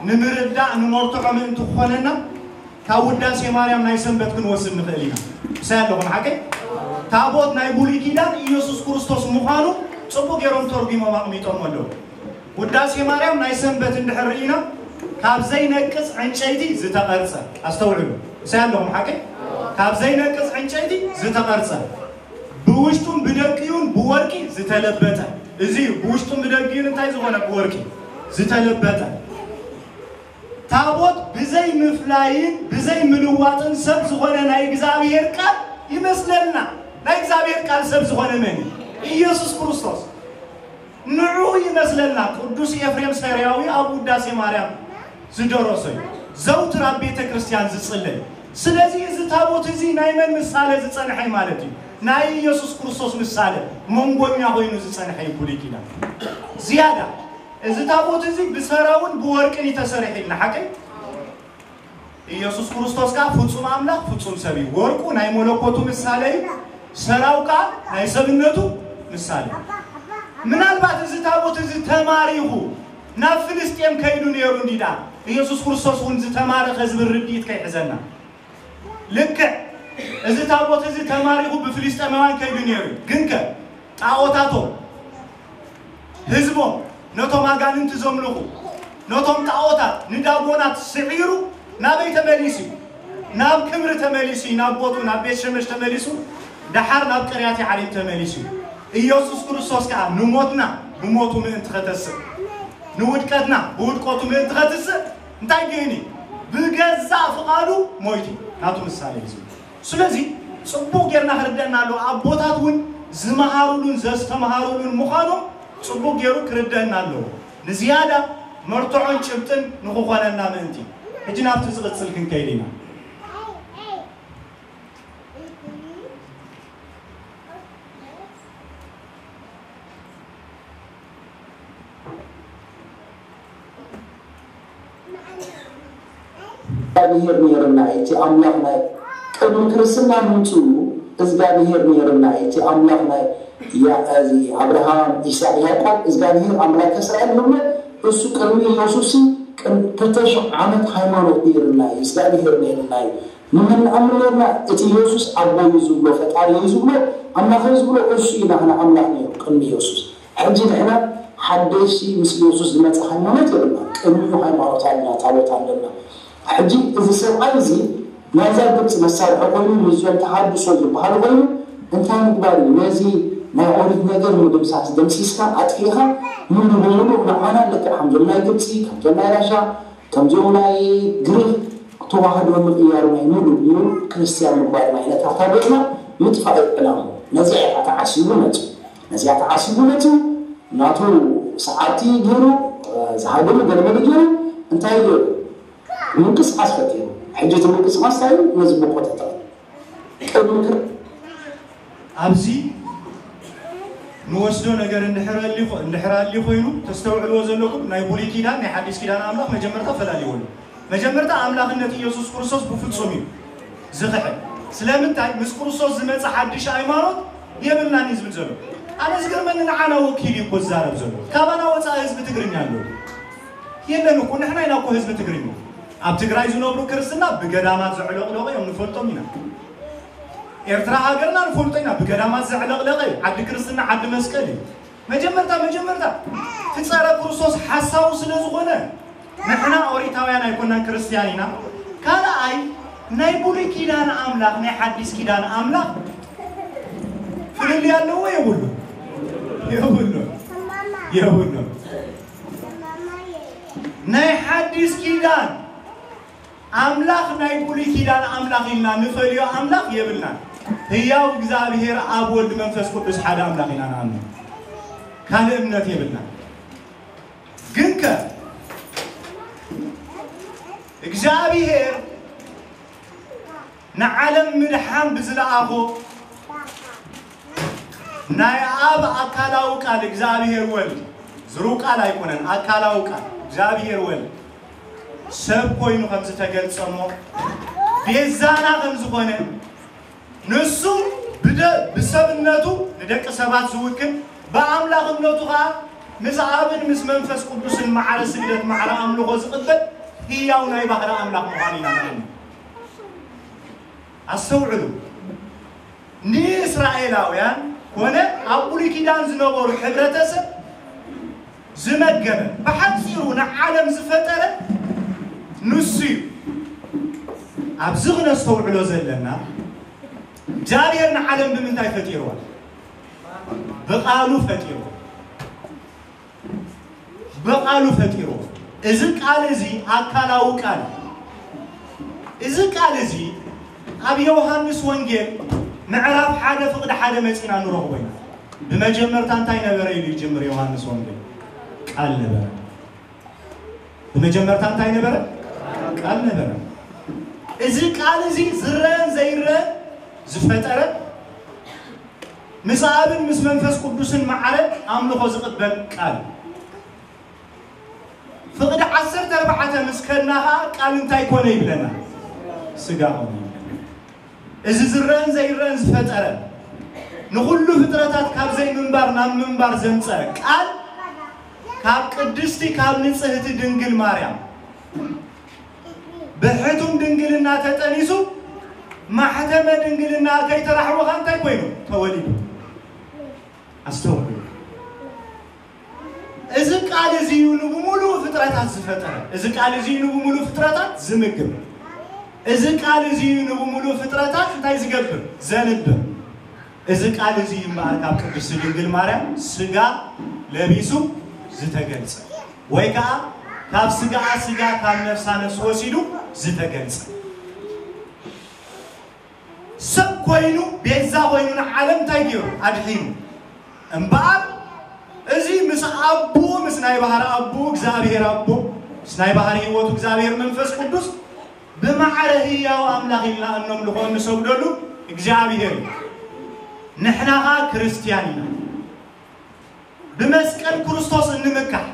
ንምርዳእ ንመርትዖ ምእንቲ ክኾነና ካብ ውዳሴ ማርያም ናይ ሰንበት ክንወስድ ንኽእል ኢና። ምሳይ ኣለኹም ሓቀይ? ታቦት ናይ ብሉይ ኪዳን ኢየሱስ ክርስቶስ ምዃኑ ፅቡቕ ገይሮም ተርጉሞም ኣቕሚጦም ኣለዉ። ውዳሴ ማርያም ናይ ሰንበት እንድሕር ርኢና ካብ ዘይነቅፅ ዕንጨይቲ ዝተቐርፀ፣ ኣስተውዕሉ። ምሳይ ኣለኹም ሓቀይ? ካብ ዘይነቅፅ ዕንጨይቲ ዝተቐርፀ ብውሽጡን ብደግኡን ብወርቂ ዝተለበጠ፣ እዚ እዩ። ብውሽጡን ብደግኡን እንታይ ዝኾነ? ብወርቂ ዝተለበጠ። ታቦት ብዘይ ምፍላይን ብዘይ ምልዋጥን ሰብ ዝኾነ ናይ እግዚኣብሔር ቃል ይመስለና። ናይ እግዚኣብሔር ቃል ሰብ ዝኾነ መን እዩ? ኢየሱስ ክርስቶስ። ንዑ ይመስለና። ቅዱስ ኤፍሬም ሰሪያዊ ኣብ ውዳሴ ማርያም ዝደረሶ እዩ። ዘውትር ኣብ ቤተ ክርስቲያን ዝጽለይ። ስለዚ እዚ ታቦት እዚ ናይ መን ምሳሌ ዝጸንሐ እዩ ማለት እዩ? ናይ ኢየሱስ ክርስቶስ ምሳሌ መንጎኛ ኮይኑ ዝጸንሐ እዩ። ብሉይ ኪዳን ዝያዳ እዚ ታቦት እዚ ብሰራውን ብወርቅን እዩ ተሰሪሑ ኢልና ሓቀይ? ኢየሱስ ክርስቶስ ከኣ ፍጹም ኣምላኽ ፍጹም ሰብ እዩ። ወርቁ ናይ መለኮቱ ምሳሌ እዩ። ሰራው ከኣ ናይ ሰብነቱ ምሳሌ እዩ። ምናልባት እዚ ታቦት እዚ ተማሪኹ ናብ ፍልስጤም ከይዱ ነይሩ እንዲ ደኣ ኢየሱስ ክርስቶስ እውን ዝተማረኸ ዝብል ርድኢት ከይሕዘና። ልክዕ እዚ ታቦት እዚ ተማሪኹ ብፍልስጤማውያን ከይዱ ነይሩ እዩ። ግንከ ጣዖታቶም ህዝቦም ነቶም ኣጋንንቲ ዘምልኹ ነቶም ጣዖታት ንዳጎናት ስዒሩ ናበይ ተመሊሱ እዩ? ናብ ክብሪ ተመሊሱ እዩ። ናብ ቦቱ ናብ ቤት ሸመሽ ተመሊሱ ደሓር ናብ ቅርያት ዓሊም ተመሊሱ እዩ። ኢየሱስ ክርስቶስ ከኣ ንሞትና ብሞቱ ምእንቲ ከተስእ ንውድቀትና ብውድቀቱ ምእንቲ ከትስእ እንታይ ገይኑ እዩ? ብገዛእ ፍቓዱ ሞይቱ እዩ። ናቱ ምሳሌ እዩ። ስለዚ ጽቡቕ ጌርና ክርደአና ኣለዎ። ኣቦታት እውን ዝመሃሩሉን ዘስተምሃሩሉን ምዃኖም ጽቡቕ ጌሩ ክርደአና ኣለዎ። ንዝያዳ መርትዖን ጭብጥን ንኽኾነና ምእንቲ። ሕጂ ናብቲ ዝቕጽል ክንከይድ ኢና። እግዚኣብሔር ነይርና እዩ። እቲ ኣምላኽ ናይ ቅድሚ ክርስትና ምምፅኡ እግዚኣብሔር ነይርና እዩ። እቲ ኣምላኽ ናይ ያ- እዚ ኣብርሃም፣ ይስሐቅ፣ ያዕቆብ እግዚኣብሔር ኣምላክ እስራኤል ንብሎ እሱ ቅድሚ ኢየሱስ ቅድሚ ክልተ ሽሕ ዓመት ሃይማኖት ነይርና እዩ። እግዚኣብሔር ነይርና እዩ። ንመን ንኣምን ነይርና? እቲ ኢየሱስ ኣቦ እዩ ዝብሎ፣ ፈጣሪ እዩ ዝብሎ፣ ኣምላኽ እዩ ዝብሎ እሱ እዩ ናህና ኣምላኽ ነይሩ ቅድሚ ኢየሱስ። ሕጂ ንሕና ሓደሽቲ ምስ ኢየሱስ ዝመፀ ሃይማኖት የብልና። ቅድሚኡ ሃይማኖት ኣለና፣ ታቦት ኣለና። ሕጂ እዚ ሰብኣይ እዚ ናይዛ ግብፂ መሳርሒ ኮይኑ ምስዞም ተሃድሶ ዝበሃሉ ኮይኑ እንታይ ምግባር እዩ? ነዚ ናይ ኦሪት ነገር ምድምሳስ ደምሲስካ ኣጥፊእካ ሙሉ ብሙሉ ንዓና ልክዕ ከምዞም ናይ ግብፂ ከምዞም ናይ ራሻ ከምዚኦም ናይ ግሪክ ተዋህዶ ምቕያር ናይ ሙሉ ብሙሉ ክርስትያን ምግባር ናይ ነታ ታቦትና ምጥፋእ ዕላሙ ነዚኣ እያ ተዓሲቡ መፅኡ። ነዚኣ ተዓሲቡ መፅኡ ናቱ ሰዓብቲ ገይሩ ዝሃደሙ ገለመለ ገይሩ እንታይ ገይሩ ምንቅስቃስ ፈጢሩ። ሕጂ እቲ ምንቅስቃስ እንታይ እዩ? ነዚ ቦቆ ተጠቐም ቅድሚ ክር ኣብዚ ንወስዶ ነገር እንድሕር ኣሊ- እንድሕር ኣሊ ኮይኑ ተስተውዕልዎ ዘለኩም ናይ ብሉይ ኪዳን ናይ ሓዲስ ኪዳን ኣምላኽ መጀመርታ ፈላሊዎ ኣሎ። መጀመርታ ኣምላኽነት ኢየሱስ ክርስቶስ ብፍጹም እዩ ዝኽሕድ። ስለምንታይ ምስ ክርስቶስ ዝመጸ ሓድሽ ሃይማኖት የብልናን እዩ ዝብል ዘሎ። ኣነ ዝገርመኒ ንዓና ወኪሉ እዩ እኮ ዝዛረብ ዘሎ። ካባና ወፃ ህዝቢ ትግርኛ ኣሎ? የለን እኮ። ንሕና ኢና እኮ ህዝቢ ትግርኛ። ኣብ ትግራይ ዝነብሩ ክርስትና ብገዳማት ዘዕለቕለቑ እዮም፣ ንፈልጦም ኢና። ኤርትራ ሃገርና ንፈልጦ ኢና፣ ብገዳማት ዘዕለቕለቐ እዩ። ዓዲ ክርስትና ዓዲ መስቀል እዩ። መጀመርታ መጀመርታ እቲ ጸረ ክርስቶስ ሓሳዊ ስለ ዝኾነ፣ ንሕና ኦሪታውያን ኣይኮናን፣ ክርስትያን ኢና። ካልኣይ፣ ናይ ብሉይ ኪዳን ኣምላኽ ናይ ሓዲስ ኪዳን ኣምላኽ ፍልልይ ኣለዎ የብሉ? የብሉ። የብሉ። ናይ ሓዲስ ኪዳን ኣምላኽ ናይ ብሉይ ኪዳን ኣምላኽ ኢልና ንፈልዮ ኣምላኽ የብልናን። ህያው እግዚኣብሔር ኣብ፣ ወልድ፣ መንፈስ ቅዱስ ሓደ ኣምላኽ ኢና ንኣምን። ካልእ እምነት የብልናን። ግንከ እግዚኣብሔር ንዓለም ምድሓን ብዝለኣኾ ናይ ኣብ ኣካላዊ ቃል እግዚኣብሔር ወልድ፣ ዝሩው ቃል ኣይኮነን፣ ኣካላዊ ቃል እግዚኣብሔር ወልድ ሰብ ኮይኑ ከም ዝተገልጸ እሞ፣ ቤዛና ከም ዝኾነ፣ ንሱ ብደ-፣ ብሰብነቱ ንደቂ ሰባት ዝውክል፣ ብኣምላኽነቱ ኸኣ ምስ ኣብን ምስ መንፈስ ቅዱስን ማዕረ ስግደት፣ ማዕረ ኣምልኾ ዝቕበል ህያው ናይ ባህሪ ኣምላኽ ምዃኑ ኢና ንኣምን። ኣስተውዕሉ። ንእስራኤላውያን ኮነ ኣብ ብሉይ ኪዳን ዝነበሩ ሕብረተሰብ ዝመገበ፣ ብሓጺሩ ንዓለም ዝፈጠረ ንሱ እዩ። ኣብዚ ክነስተውዕሎ ዘለና፣ እግዚኣብሔር ንዓለም ብምንታይ ፈጢርዋ? ብቓሉ ፈጢርዋ። ብቓሉ ፈጢርዎ። እዚ ቃል እዚ ኣካላዊ ቃል እዩ። እዚ ቃል እዚ ኣብ ዮሃንስ ወንጌል ምዕራፍ ሓደ ፍቕዲ ሓደ መጺና ንረኽቦ ኢና። ብመጀመርታ እንታይ ነበረ ኢሉ ይጅምር ዮሃንስ ወንጌል? ቃል ነበረ። ብመጀመርታ እንታይ ነበረ? ቃል ነበረ። እዚ ቃል እዚ ዝረአን ዘይረአን ዝፈጠረ፣ ምስ ኣብን ምስ መንፈስ ቅዱስን ማዕረ ኣምልኾ ዝቕበል ቃል። ፍቕዲ ዓሰርተ ኣርባዕተ ምስ ከድና ኸዓ ቃል እንታይ ኮነ ይብለና? ስጋ ኮነ ይብለና። እዚ ዝረአን ዘይረአን ዝፈጠረ፣ ንኹሉ ፍጥረታት ካብ ዘይምንባር ናብ ምንባር ዘምፀአ ቃል፣ ካብ ቅድስቲ ካብ ንጽህቲ ድንግል ማርያም ብሕቱም ድንግልና ተጠኒሱ፣ ማሕተመ ድንግልና ከይተራሕወኻ እንታይ ኮይኑ? ተወሊዱ። ኣስተውዕሉ። እዚ ቃል እዚ እዩ ንብሙሉእ ፍጥረታት ዝፈጠረ። እዚ ቃል እዚ እዩ ንብሙሉእ ፍጥረታት ዝምግብ። እዚ ቃል እዚ እዩ ንብሙሉእ ፍጥረታት እንታይ ዝገብር? ዘንብር። እዚ ቃል እዚ እዩ እምበኣር ካብ ቅድስቲ ድንግል ማርያም ስጋ ለቢሱ ዝተገልጸ፣ ወይ ከዓ ካብ ስጋኣ ስጋ፣ ካብ ነፍሳ ነፍሲ ወሲዱ ዝተገልጸ። ሰብ ኮይኑ፣ ቤዛ ኮይኑ፣ ንዓለም እንታይ ገይሩ? ኣድሒኑ። እምበኣር እዚ ምስ ኣቦኡ፣ ምስ ናይ ባህሪ ኣቦኡ እግዚኣብሔር ኣቦ፣ ምስ ናይ ባህሪ ህይወቱ እግዚኣብሔር መንፈስ ቅዱስ ብማዕረ ህያው ኣምላኽ ኢልና እነምልኾ እንሰግደሉ እግዚኣብሔር እዩ። ንሕና ኸኣ ክርስትያን ኢና። ብመስቀል ክርስቶስ እንምካሕ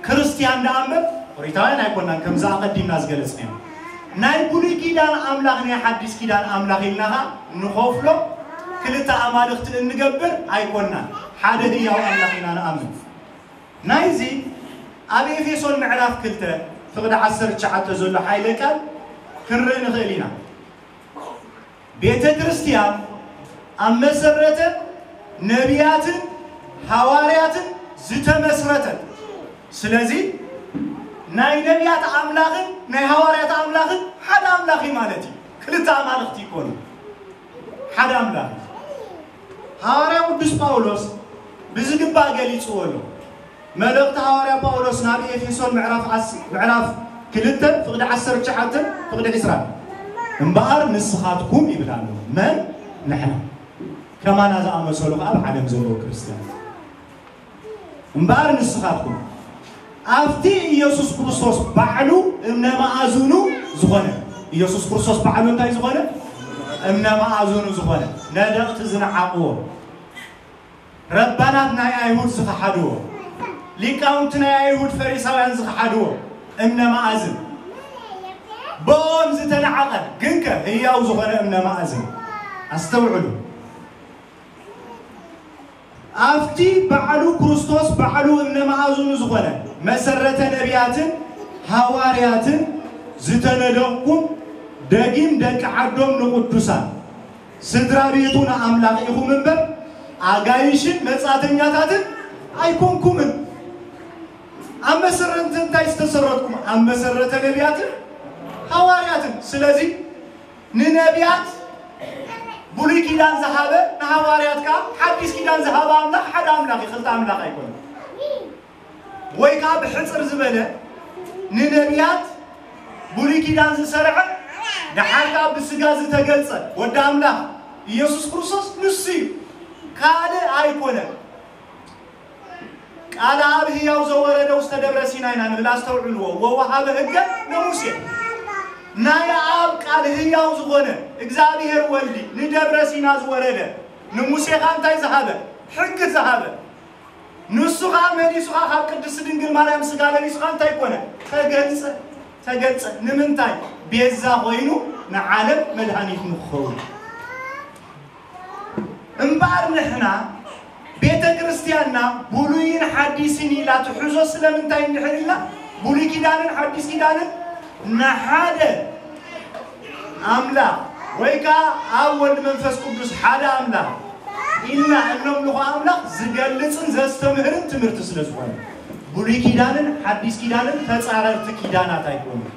ክርስትያን ደኣ እምበር፣ ኦሪታውያን ኣይኮናን፣ ከምዚ ኣቐዲምና ዝገለጽናዮ። ናይ ብሉይ ኪዳን ኣምላኽ፣ ናይ ሓዲስ ኪዳን ኣምላኽ ኢልና ኸኣ ንኸፍሎ ክልተ ኣማልኽቲ እንገብር ኣይኮናን። ሓደ ህያው ኣምላኽ ኢና ንኣምን። ናይዚ ኣብ ኤፌሶን ምዕራፍ ክልተ ፍቕዲ ዓሰርተ ትሽዓተ ዘሎ ሓይለ ቃል ክንርኢ ንኽእል ኢና። ቤተ ክርስቲያን ኣብ መሰረተ ነቢያትን ሃዋርያትን ዝተመስረተት። ስለዚ ናይ ነቢያት ኣምላኽን ናይ ሃዋርያት ኣምላኽን ሓደ ኣምላኽ እዩ ማለት እዩ። ክልተ ኣማልኽቲ ይኮኑ፣ ሓደ ኣምላኽ እዩ። ሃዋርያ ቅዱስ ጳውሎስ ብዝግባእ ገሊጽዎ ኣሎ። መልእኽቲ ሃዋርያ ጳውሎስ ናብ ኤፌሶን ምዕራፍ ዓስ-፣ ምዕራፍ ክልተ ፍቕዲ ዓሰርተ ትሽዓተ ፍቕዲ ዕስራ፣ እምበኣር ንስኻትኩም ይብል ኣሎ። መን? ንሕና። ከማና ዝኣመሰሉ ኸኣ ኣብ ዓለም ዘለዉ ክርስትያን። እምበኣር ንስኻትኩም ኣብቲ ኢየሱስ ክርስቶስ ባዕሉ እምነ መኣዝኑ ዝኾነ፣ ኢየሱስ ክርስቶስ ባዕሉ እንታይ ዝኾነ? እምነ መኣዝኑ ዝኾነ፣ ነደቕቲ ዝነዓቕዎ፣ ረባናት ናይ ኣይሁድ ዝኸሓድዎ፣ ሊቃውንቲ ናይ ኣይሁድ ፈሪሳውያን ዝኸሓድዎ እምነ መኣዝን፣ ብኦም ዝተነዓቐ ግንከ ህያው ዝኾነ እምነ መኣዝን። ኣስተውዕሉ። ኣብቲ ባዕሉ ክርስቶስ ባዕሉ እምነ መኣዝኑ ዝኾነ መሰረተ ነቢያትን ሃዋርያትን ዝተነደቕኩም ደጊም ደቂ ዓዶም ንቕዱሳን ስድራ ቤቱ ንኣምላኽ ኢኹም እምበር ኣጋይሽን መጻተኛታትን ኣይኮንኩምን። ኣብ መሰረት እንታይ ዝተሰረትኩም? ኣብ መሰረተ ነቢያትን ሃዋርያትን። ስለዚ ንነቢያት ብሉይ ኪዳን ዝሃበ ንሃዋርያት ከዓ ሓዲስ ኪዳን ዝሃበ ኣምላኽ ሓደ ኣምላኽ እዩ፣ ክልተ ኣምላኽ ኣይኮነን። ወይ ከዓ ብሕፅር ዝበለ ንነቢያት ብሉይ ኪዳን ዝሰርዐ ደሓር ከዓ ብስጋ ዝተገልጸ ወዲ ኣምላኽ ኢየሱስ ክርስቶስ ንሱ እዩ፣ ካልእ ኣይኮነን። ቃል ኣብ ህያው ዘወረደ ውስተ ደብረ ሲና ኢና ንብል፣ ኣስተውዕልዎ። ወወሃበ ህገ ለሙሴ። ናይ ኣብ ቃል ህያው ዝኾነ እግዚኣብሔር ወልዲ ንደብረ ሲና ዝወረደ ንሙሴ ኸኣ እንታይ ዝሃበ? ሕጊ ዝሃበ። ንሱ ኸኣ መሊሱ ኸኣ ካብ ቅድስቲ ድንግል ማርያም ስጋ ለቢሱ ኸኣ እንታይ ኮነ? ተገልጸ። ተገልጸ። ንምንታይ? ቤዛ ኮይኑ ንዓለም መድሃኒት ንክኸውን። እምበኣር ንሕና ቤተ ክርስቲያንና ብሉይን ሓዲስን ኢላ ትሕዞ ስለምንታይ እንድሕር ኢልና ብሉይ ኪዳንን ሓዲስ ኪዳንን ንሓደ ኣምላኽ ወይ ከዓ ኣብ ወልድ መንፈስ ቅዱስ ሓደ ኣምላኽ ኢልና እነምልኾ ኣምላኽ ዝገልጽን ዘስተምህርን ትምህርቲ ስለ ዝኾነ ብሉይ ኪዳንን ሓዲስ ኪዳንን ተጻረርቲ ኪዳናት ኣይኮኑን።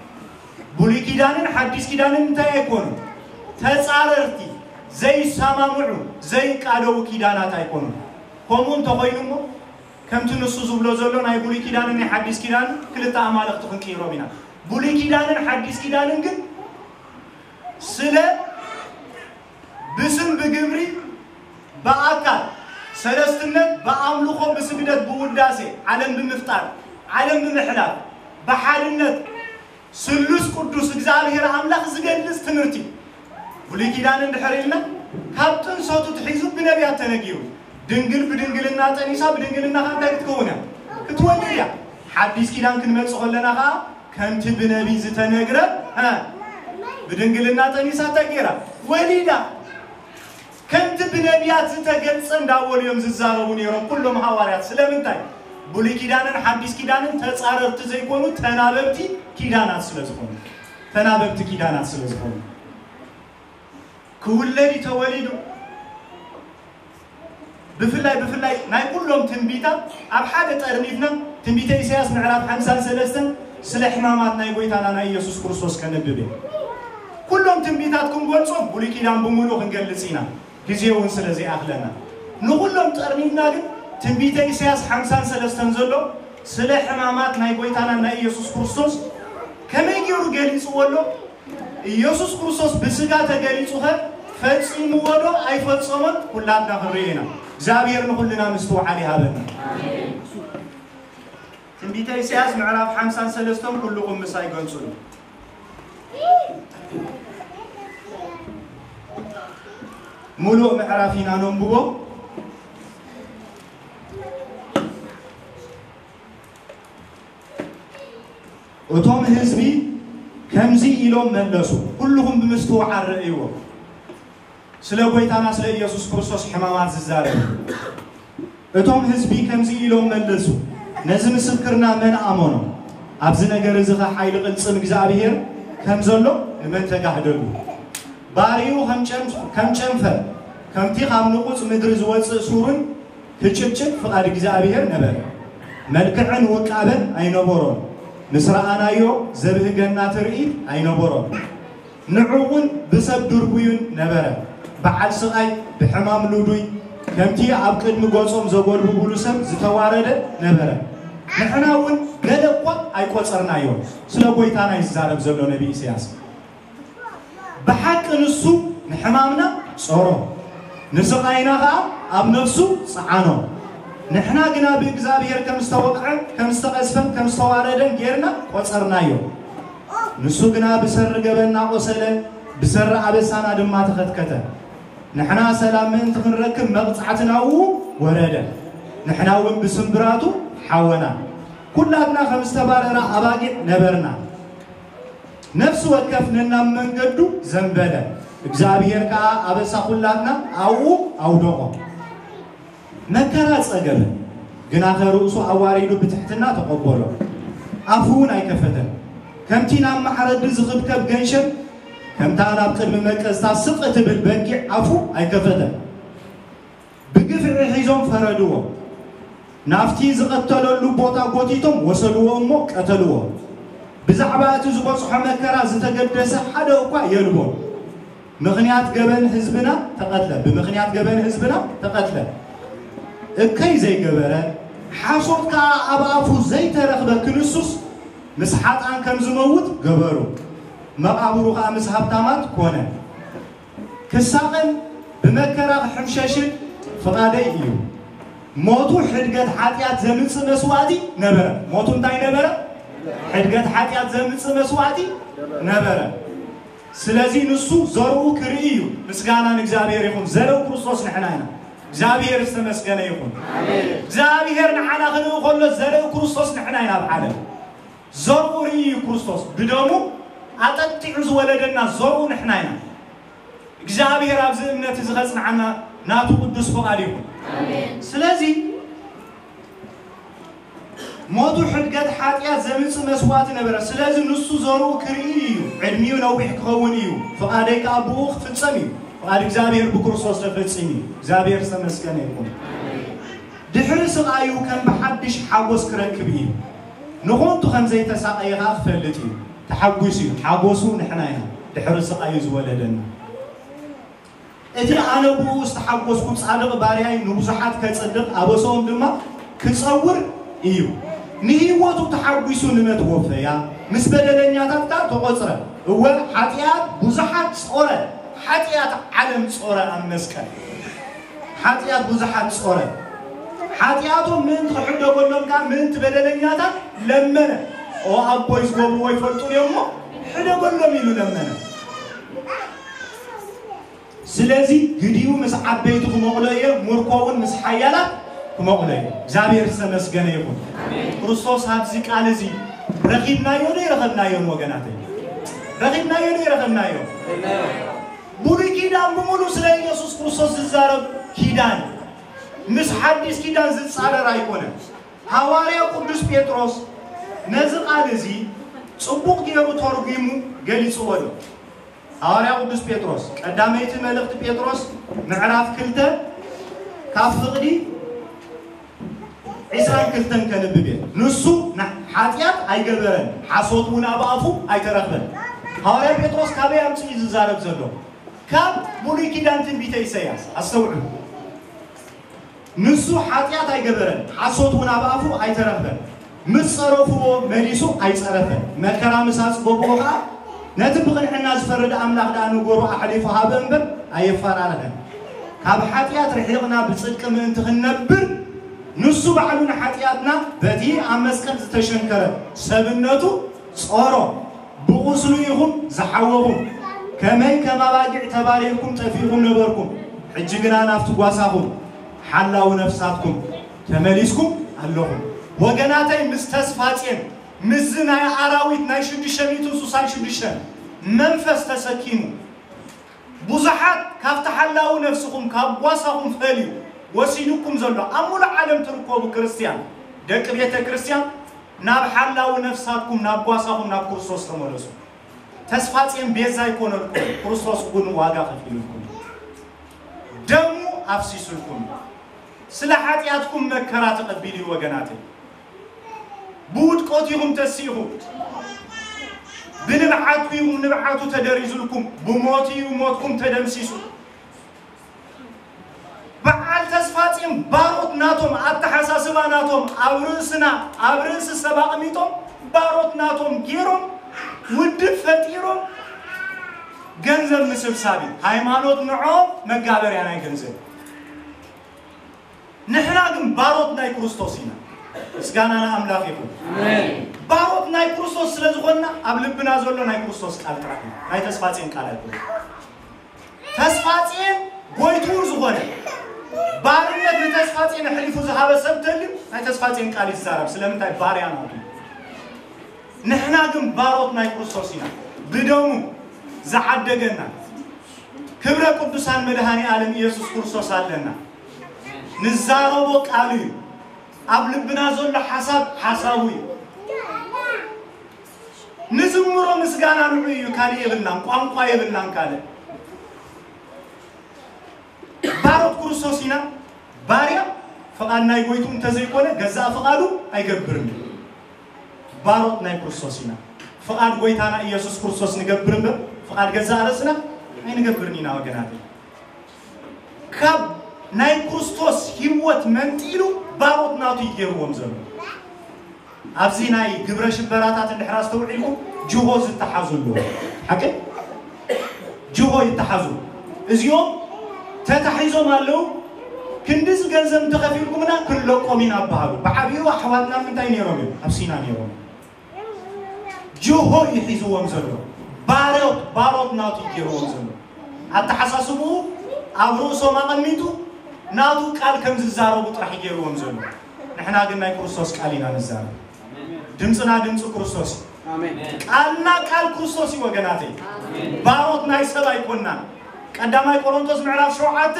ብሉይ ኪዳንን ሓዲስ ኪዳንን እንታይ ኣይኮኑ? ተጻረርቲ፣ ዘይሰማምዑ፣ ዘይቃደዉ ኪዳናት ኣይኮኑ። ከምኡ እንተኾይኑ እሞ ከምቲ ንሱ ዝብሎ ዘሎ ናይ ብሉይ ኪዳንን ናይ ሓዲስ ኪዳን ክልተ ኣማልኽቲ ክንቅይሮም ኢና። ብሉይ ኪዳንን ሓዲስ ኪዳንን ግን ስለ ብስም ብግብሪ ብኣካል ሰለስትነት ብኣምልኾ ብስግደት ብውዳሴ ዓለም ብምፍጣር ዓለም ብምሕላፍ ብሓድነት ስሉስ ቅዱስ እግዚኣብሔር ኣምላኽ ዝገልጽ ትምህርቲ ብሉይ ኪዳን እንድሕር ኢልና ካብ ጥንሰቱ ትሒዙ ብነቢያት ተነጊሩ ድንግል ብድንግልና ጠኒሳ ብድንግልና ከ እንታይ ክትከውን እያ ክትወልድ እያ ሓዲስ ኪዳን ክንመጽእ ከለና ከኣ ከምቲ ብነቢይ ዝተነግረ እ ብድንግልና ጠኒሳ እንታይ ገይራ ወሊዳ ከምቲ ብነቢያት ዝተገልጸ እንዳበሉ እዮም ዝዛረቡ ነይሮም ኩሎም ሃዋርያት። ስለምንታይ? ብሉይ ኪዳንን ሓዲስ ኪዳንን ተጻረርቲ ዘይኮኑ ተናበብቲ ኪዳናት ስለ ዝኾኑ። ተናበብቲ ኪዳናት ስለ ዝኾኑ። ክውለድ እዩ ተወሊዱ። ብፍላይ ብፍላይ ናይ ኩሎም ትንቢታት ኣብ ሓደ ጠርኒፍና ትንቢተ ኢሳያስ ምዕራፍ ሓምሳን ሰለስተን ስለ ሕማማት ናይ ጎይታና ናይ ኢየሱስ ክርስቶስ ከነብብ እዩ። ኩሎም ትንቢታት ክንገልጾም ብሉይ ኪዳን ብምሉእ ክንገልጽ ኢና። ግዜ እውን ስለ ዘይኣኽለና ንኹሎም ጠርኒፍና ግን ትንቢተ ኢሳያስ ሓምሳን ሰለስተን ዘሎ ስለ ሕማማት ናይ ጎይታና ናይ ኢየሱስ ክርስቶስ ከመይ ገይሩ ገሊጽዎ ኣሎ? ኢየሱስ ክርስቶስ ብስጋ ተገሊጹኸ ፈጺምዎ ዶ ኣይፈጸሞን? ኩላትና ክንርኢ ኢና። እግዚኣብሔር ንኹልና ምስትውዓል ይሃበና። ትንቢተ ኢሳያስ ምዕራፍ ሓምሳን ሰለስተን ኩልኹም ምሳይ ገንጹሉ። ሙሉእ ምዕራፍ ኢና ነንብቦ። እቶም ህዝቢ ከምዚ ኢሎም መለሱ፣ ኩልኹም ብምስትውዓል ረእይዎ። ስለ ጎይታና ስለ ኢየሱስ ክርስቶስ ሕማማት ዝዛረብ። እቶም ህዝቢ ከምዚ ኢሎም መለሱ፣ ነዚ ምስክርና መን ኣመኖ? ኣብዚ ነገር እዚ ኸ ሓይሊ ቅልጽም እግዚኣብሔር ከም ዘሎ ንመን ተጋህደሉ? ባርዩ ከም ጨንፍ-፣ ከም ጨንፈር፣ ከምቲ ካብ ንቑጽ ምድሪ ዝወጽእ ሱርን ክጭብጭብ ፍቓድ እግዚኣብሔር ነበረ። መልክዕን ውቃበን ኣይነበሮን። ምስ ረኣናዮ ዘብህገና ትርኢት ኣይነበሮን። ንዑ እውን ብሰብ ድርቡዩን ነበረ። በዓል ስቓይ፣ ብሕማም ልዱይ፣ ከምቲ ኣብ ቅድሚ ገጾም ዘጎልብቡሉ ሰብ ዝተዋረደ ነበረ። ንሕና እውን ገለ እኳ ኣይቆጸርናዮን። ስለ ጎይታና እዩ ዝዛረብ ዘሎ ነቢ ኢሳያስ። ብሓቂ ንሱ ንሕማምና ጾሮ፣ ንስቓይና ኸኣ ኣብ ነፍሱ ጸዓኖ። ንሕና ግና ብእግዚኣብሔር ከም ዝተወቕዐን ከም ዝተቐዝፈን ከም ዝተዋረደን ጌርና ቆጸርናዮ። ንሱ ግና ብሰሪ ገበንና ቆሰለ፣ ብሰሪ ኣበሳና ድማ ተኸትከተ። ንሕና ሰላም ምእንቲ ክንረክብ መቕጻዕቲ ናብኡ ወረደ። ንሕና እውን ብስምብራቱ ሓወና። ኩላትና ከም ዝተባረራ ኣባጊዕ ነበርና። ነፍሲ ወከፍ ነናብ መንገዱ ዘንበለ፣ እግዚኣብሔር ከኣ ኣበሳ ኩላትና ኣብኡ ኣውደቖ። መከራ ጸገበ፣ ግናኸ ርእሱ ኣዋሪዱ ብትሕትና ተቐበሎ። ኣፉ እውን ኣይከፈተን። ከምቲ ናብ ማዕረዲ ዝኽብከብ ገንሸል፣ ከምታ ናብ ቅድሚ መቀዝታ ስቕ እትብል በጊዕ ኣፉ ኣይከፈተን። ብግፍዒ ሒዞም ፈረድዎ። ናብቲ ዝቐተለሉ ቦታ ጎቲቶም ወሰድዎ እሞ ቀተልዎ። ብዛዕባ እቲ ዝበጽሖ መከራ ዝተገደሰ ሓደ እኳ የልቦን። ምኽንያት ገበን ህዝብና ተቐትለ፣ ብምኽንያት ገበን ህዝብና ተቐትለ። እከይ ዘይገበረ፣ ሓሶት ከኣ ኣብ ኣፉ ዘይተረኽበ ክንሱስ፣ ምስ ሓጥኣን ከም ዝመውት ገበሩ። መቓብሩ ከኣ ምስ ሃብታማት ኮነ። ክሳቐን ብመከራ ክሕምሸሽን ፍቓደይ እዩ። ሞቱ ሕድገት ሓጢኣት ዘምጽእ መስዋእቲ ነበረ። ሞቱ እንታይ ነበረ? ሕድገት ሓጢኣት ዘምጽእ መስዋእቲ ነበረ። ስለዚ ንሱ ዘርኡ ክርኢ እዩ። ምስጋና ንእግዚኣብሔር ይኹን። ዘርኡ ክርስቶስ ንሕና ኢና። እግዚኣብሔር ዝተመስገነ ይኹን። እግዚኣብሔር ንዓና ክርኢ ከሎ ዘርኡ ክርስቶስ ንሕና ኢና ኣብ ዓለም። ዘርኡ ርኢ እዩ ክርስቶስ። ብደሙ ኣጠጢዑ ዝወለደና ዘርኡ ንሕና ኢና። እግዚኣብሔር ኣብዚ እምነት እዚ ከጽንዓና ናቱ ቅዱስ ፍቓድ ይኹን። ስለዚ ሞቱ ሕድገት ሓጢኣት ዘምጽእ መስዋዕቲ ነበረ። ስለዚ ንሱ ዘርኡ ክርኢ እዩ፣ ዕድሚኡ ነዊሕ ክኸውን እዩ፣ ፍቓደይ ከኣ ብኡ ክፍጸም እዩ። ፍቓድ እግዚኣብሔር ብክርስቶስ ተፈጺሙ እዩ። እግዚኣብሔር ዝተመስገነ ይኹን። ድሕሪ ስቓዩ ከም ብሓድሽ ሓጎስ ክረክብ እዩ። ንኾንቱ ከም ዘይተሳቐየ ከኣ ክፈልጥ እዩ። ተሓጒሱ እዩ። ሓጎሱ ንሕና ኢና። ድሕሪ ስቓዩ ዝወለደና። እቲ ኣነ ብኡ ዝተሓጎስኩ ጻድቕ ባርያይ ንብዙሓት ከጽድቕ ኣበሰኦም ድማ ክጸውር እዩ። ንህይወቱ ተሓጒሱ ንመት ወፈያ፣ ምስ በደለኛታት ከኣ ተቖጽረ። እወ፣ ሓጢኣት ብዙሓት ጾረ፣ ሓጢኣት ዓለም ጾረ ኣብ መስቀል። ሓጢኣት ብዙሓት ጾረ። ሓጢኣቶም ምእንቲ ክሕደገሎም ከኣ ምእንቲ በደለኛታት ለመነ። ኦ ኣቦይ፣ ዝገብርዎ ኣይፈልጡን እዮም እሞ ሕደገሎም ኢሉ ለመነ። ስለዚ ግዲኡ ምስ ዓበይቲ ክመቕሎ እየ፣ ምርኮ እውን ምስ ሓያላት ክመቕሎ እየ። እግዚኣብሔር ዝተመስገነ ይኹን። ክርስቶስ ኣብዚ ቃል እዚ ረኺብናዮ ዶ ኣይረኸብናዮን ወገናተይ? ረኺብናዮ ዶ ኣይረኸብናዮ? ብሉይ ኪዳን ብምሉእ ስለ ኢየሱስ ክርስቶስ ዝዛረብ ኪዳን ምስ ሓዲስ ኪዳን ዝጻረር ኣይኮነን። ሃዋርያ ቅዱስ ጴጥሮስ ነዚ ቃል እዚ ጽቡቕ ገይሩ ተርጒሙ ገሊጽዎ ኣሎ። ሃዋርያ ቅዱስ ጴጥሮስ ቀዳመይቲ መልእኽቲ ጴጥሮስ ምዕራፍ ክልተ ካብ ፍቕዲ ዒስራን ክልተን ከንብብ እየ። ንሱ ና-፣ ሓጢኣት ኣይገበረን፣ ሓሶት እውን ኣብ ኣፉ ኣይተረኽበን። ሃዋርያ ጴጥሮስ ካበይ ኣምጽኡ እዩ ዝዛረብ ዘሎ? ካብ ብሉይ ኪዳን ትንቢተ ኢሳይያስ። ኣስተውዕሉ። ንሱ ሓጢኣት ኣይገበረን፣ ሓሶት እውን ኣብ ኣፉ ኣይተረኽበን። ምስ ጸረፍዎ መሊሱ ኣይጸረፈን። መከራ ምስ ኣጽገብዎ ኸኣ ነቲ ብቕንዕና ዝፈርድ ኣምላኽ ደኣ ነገሩ ኣሕሊፉ ሃበ እምበር ኣየፈራረኸን። ካብ ሓጢኣት ርሒቕና ብጽድቂ ምእንቲ ክንነብር ንሱ ባዕሉ ንሓጢኣትና በቲ ኣብ መስቀል ዝተሸንከረ ሰብነቱ ጾሮ። ብቑስሉ ኢኹም ዝሓወኹም፣ ከመይ ከም ኣባጊዕ ተባሪርኩም ጠፊእኩም ነበርኩም፣ ሕጂ ግና ናብቲ ጓሳኹም ሓላዊ ነፍሳትኩም ተመሊስኩም ኣለኹም። ወገናተይ፣ ምስ ተስፋጼን ምስዚ ናይ ኣራዊት ናይ ሽዱሽተ ሚእትን ስሳን ሽዱሽተን መንፈስ ተሰኪሙ ብዙሓት ካብቲ ሓላዊ ነፍስኹም ካብ ጓሳኹም ፈልዩ ወሲዱኩም ዘሎ ኣብ ሙሉእ ዓለም ትርከቡ ክርስትያን ደቂ ቤተ ክርስትያን ናብ ሓላዊ ነፍሳትኩም ናብ ጓሳኹም ናብ ክርስቶስ ተመለሱ። ተስፋጼን ቤዛ ኣይኮነልኩም፣ ክርስቶስ ግን ዋጋ ከፊሉልኩም፣ ደሙ ኣፍሲሱልኩም፣ ስለ ሓጢኣትኩም መከራ ተቐቢሉ እዩ ወገናተይ። ብውድቀቱ ኢኹም ተሲእኹም፣ ብንብዓቱ ኢኹም ንብዓቱ ተደሪዙልኩም፣ ብሞቱ እዩ ሞትኩም ተደምሲሱ። በዓል ተስፋጼን ባሮት ናቶም ኣተሓሳስባ ናቶም ኣብ ርእስና ኣብ ርእሲ ሰብ ኣቕሚጦም ባሮት ናቶም ገይሮም ውድብ ፈጢሮም ገንዘብ ምስብሳብ እዩ። ሃይማኖት ንዖም መጋበርያ ናይ ገንዘብ። ንሕና ግን ባሮት ናይ ክርስቶስ ኢና። ምስጋና ንኣምላኽ ይኹን። ባሮት ናይ ክርስቶስ ስለ ዝኾንና ኣብ ልብና ዘሎ ናይ ክርስቶስ ቃል ጥራሕ እዩ። ናይ ተስፋጼን ቃል ኣይኮነን። ተስፋጼን ጎይትኡ ዝኾነ ባርነት ንተስፋጼን ኣሕሊፉ ዝሃበ ሰብ ተልዩ ናይ ተስፋጼን ቃል ይዛረብ። ስለምንታይ? ባርያ ናቱ። ንሕና ግን ባሮት ናይ ክርስቶስ ኢና። ብደሙ ዝዓደገና ክብረ ቅዱሳን መድኃኔ ዓለም ኢየሱስ ክርስቶስ ኣለና። ንዛረቦ ቃሉ እዩ። ኣብ ልብና ዘሎ ሓሳብ ሓሳቡ እዩ። ንዝምሮ ምስጋና ንዑ እዩ። ካልእ የብልናን፣ ቋንቋ የብልናን። ካልእ ባሮት ክርስቶስ ኢና። ባርያ ፍቓድ ናይ ጎይቱ እንተዘይኮነ ገዛእ ፍቓዱ ኣይገብርን። ባሮት ናይ ክርስቶስ ኢና። ፍቓድ ጎይታና ኢየሱስ ክርስቶስ ንገብር እምበር ፍቓድ ገዛእ ርእስና ኣይንገብርን ኢና ወገናት። ካብ ናይ ክርስቶስ ህይወት መንጢሉ ባሮት ናቱ ይገርዎም ዘሎ። ኣብዚ ናይ ግብረ ሽበራታት እንድሕር ኣስተውዒልኩም ጅሆ ዝተሓዙ ኣለዉ። ሓቂ ጅሆ ይተሓዙ። እዚኦም ተታሒዞም ኣለዉ። ክንድዚ ገንዘብ እንተኸፊልኩምና ክንለቆም ኢና ኣባሃሉ። ብዓብዩ ኣሕዋትና ምንታይ ነይሮም እዮም? ኣብ ሲና ነይሮም። ጅሆ እዩ ሒዝዎም ዘሎ። ባሮት ባሮት ናቱ ይገርዎም ዘሎ። ኣተሓሳስብኡ ኣብ ርእሶም ኣቐሚጡ ናቱ ቃል ከም ዝዛረቡ ጥራሕ ይገርዎም ዘሎ። ንሕና ግን ናይ ክርስቶስ ቃል ኢና ንዛረብ። ድምፅና ድምፂ ክርስቶስ እዩ። ቃልና ቃል ክርስቶስ እዩ ወገናተይ። ባሮት ናይ ሰብ ኣይኮናን። ቀዳማይ ቆሮንቶስ ምዕራፍ ሸውዓተ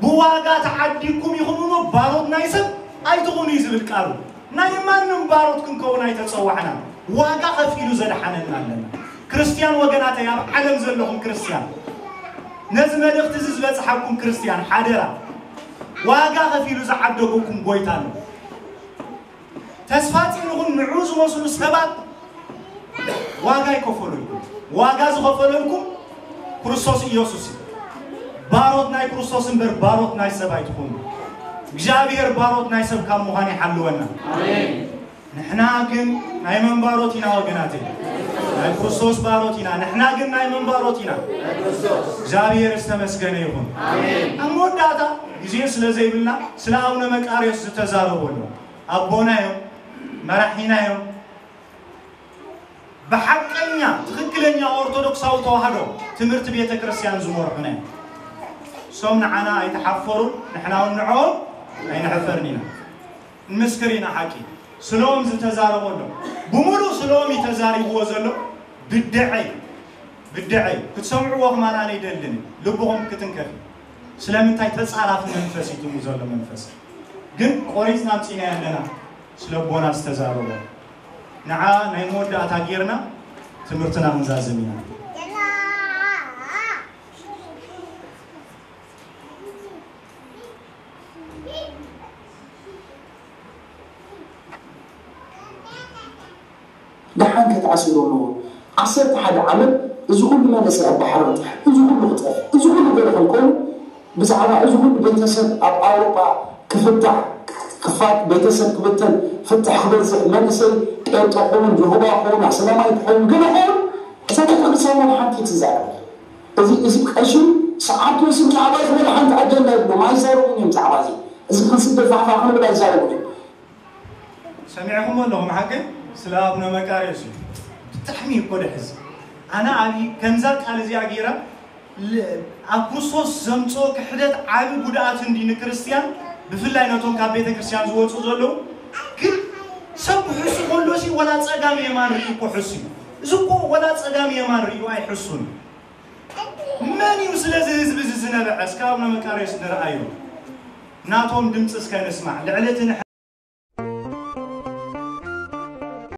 ብዋጋ ተዓዲግኩም ኢኹም እሞ ባሮት ናይ ሰብ ኣይትኹኑ እዩ ዝብል ቃሉ። ናይ ማንም ባሮት ክንከውን ኣይተፀዋዕናን። ዋጋ ከፊሉ ዘድሓነና ኣለና። ክርስትያን ወገናተይ፣ ኣብ ዓለም ዘለኹም ክርስትያን፣ ነዚ መልእኽቲ እዚ ዝበፅሓኩም ክርስትያን ሓደራ፣ ዋጋ ከፊሉ ዝዓደገኩም ጎይታ ኣሎ። ተስፋ ፂንኹም ንዑ ዝመስሉ ሰባት ዋጋ ይከፈለልኩም። ዋጋ ዝኸፈለልኩም ክርስቶስ ኢየሱስ እዩ። ባሮት ናይ ክርስቶስ እምበር ባሮት ናይ ሰብ ኣይትኹኑ። እግዚኣብሔር ባሮት ናይ ሰብ ካብ ምዃን ይሓልወና። ንሕና ግን ናይ መን ባሮት ኢና ወገናተይ? ናይ ክርስቶስ ባሮት ኢና። ንሕና ግን ናይ መን ባሮት ኢና? እግዚኣብሔር ዝተመስገነ ይኹን። ኣብ መወዳእታ ግዜ ስለ ዘይብልና ስለ ኣቡነ መቃርዮስ ዝተዛረቦ ኣሎ። ኣቦና እዮም፣ መራሒና እዮም። ብሓቀኛ ትኽክለኛ ኦርቶዶክሳዊ ተዋህዶ ትምህርቲ ቤተ ክርስቲያን ዝመርሑና እዮም። እሶም ንዓና ኣይተሓፈሩን፣ ንሕና እውን ንዕኦም ኣይንሕፈርን ኢና። ንምስክር ኢና ሓቂ። ስለኦም ዝተዛረቦ ኣሎ። ብምሉእ ስለኦም እዩ ተዛሪብዎ ዘሎ። ብድዐይ፣ ብድዐይ ክትሰምዕዎ ከማን ኣነ ይደልን። ልብኹም ክትንከፍ። ስለምንታይ ተጻራፊ መንፈስ እዩ ትሙ ዘሎ መንፈስ። ግን ቆሪጽና ኣምጺእናዮ ኣለና። ስለ ኣቦና ዝተዛረቦ። ንዓ ናይ መወዳእታ ጌርና ትምህርትና ክንዛዝም ኢና። ደሓን ከተኣሲሩ ኣለዎ። ዓሰርተ ሓደ ዓመት እዚ ኩሉ መንእሰይ ኣብ ባሕሪ ክጠፍ፣ እዚ ኩሉ ክጠፍ፣ እዚ ኩሉ ገለ ክንከውን ብዛዕባ እዚ ኩሉ ቤተሰብ ኣብ ኣውሮጳ ክፍታሕ፣ ክፋት ቤተሰብ ክብተን፣ ፍትሕ ክበዝሕ፣ መንእሰይ ጴንጠ ክኸውን፣ ጅሆባ ክኸውን፣ ኣስላማይ ክኸውን፣ ገለ ክኸውን፣ እዛ ቤተክርስትያን ወላ ሓንቲ ትዛረብ። እዚ፣ እዚ ቀሺ ሰዓት ወሲዱ ብዛዕባ እዚ ወላ ሓንቲ ኣጀንዳ የብሎም፣ ኣይዛረቡን እዮም ብዛዕባ እዚ። እዚ ክንስደድ ፋሕፋሕ ክንብል ኣይዛረቡን እዮም። ሰሚዕኹም ኣለኹም ሓቂ ስለ ኣቡነ መቃርዮስ እዩ። ብጣዕሚ እኮ ደሕዝ። ኣነ ኣብ ከምዛ ቃል እዚኣ ገይረ ል-፣ ኣብ ክርስቶስ ዘምፅኦ ክሕደት ዓቢ ጉድኣት እንዲ ንክርስትያን፣ ብፍላይ ነቶም ካብ ቤተ ክርስቲያን ዝወፁ ዘለዉ። ግን ሰብ ክሕሱ ከሎ ሲ ወላ ፀጋም የማን ርእዩ እኮ ሕሱ እዩ። እዚ እኮ ወላ ፀጋም የማን ርእዩ ኣይሕሱን። መን እዩ ስለዚ ህዝቢ እዚ ዝነበዐ? እስከ ኣቡነ መቃርዮስ ንርኣዮ። ናቶም ድምፂ እስከ ንስማዕ። ልዕሊ እቲ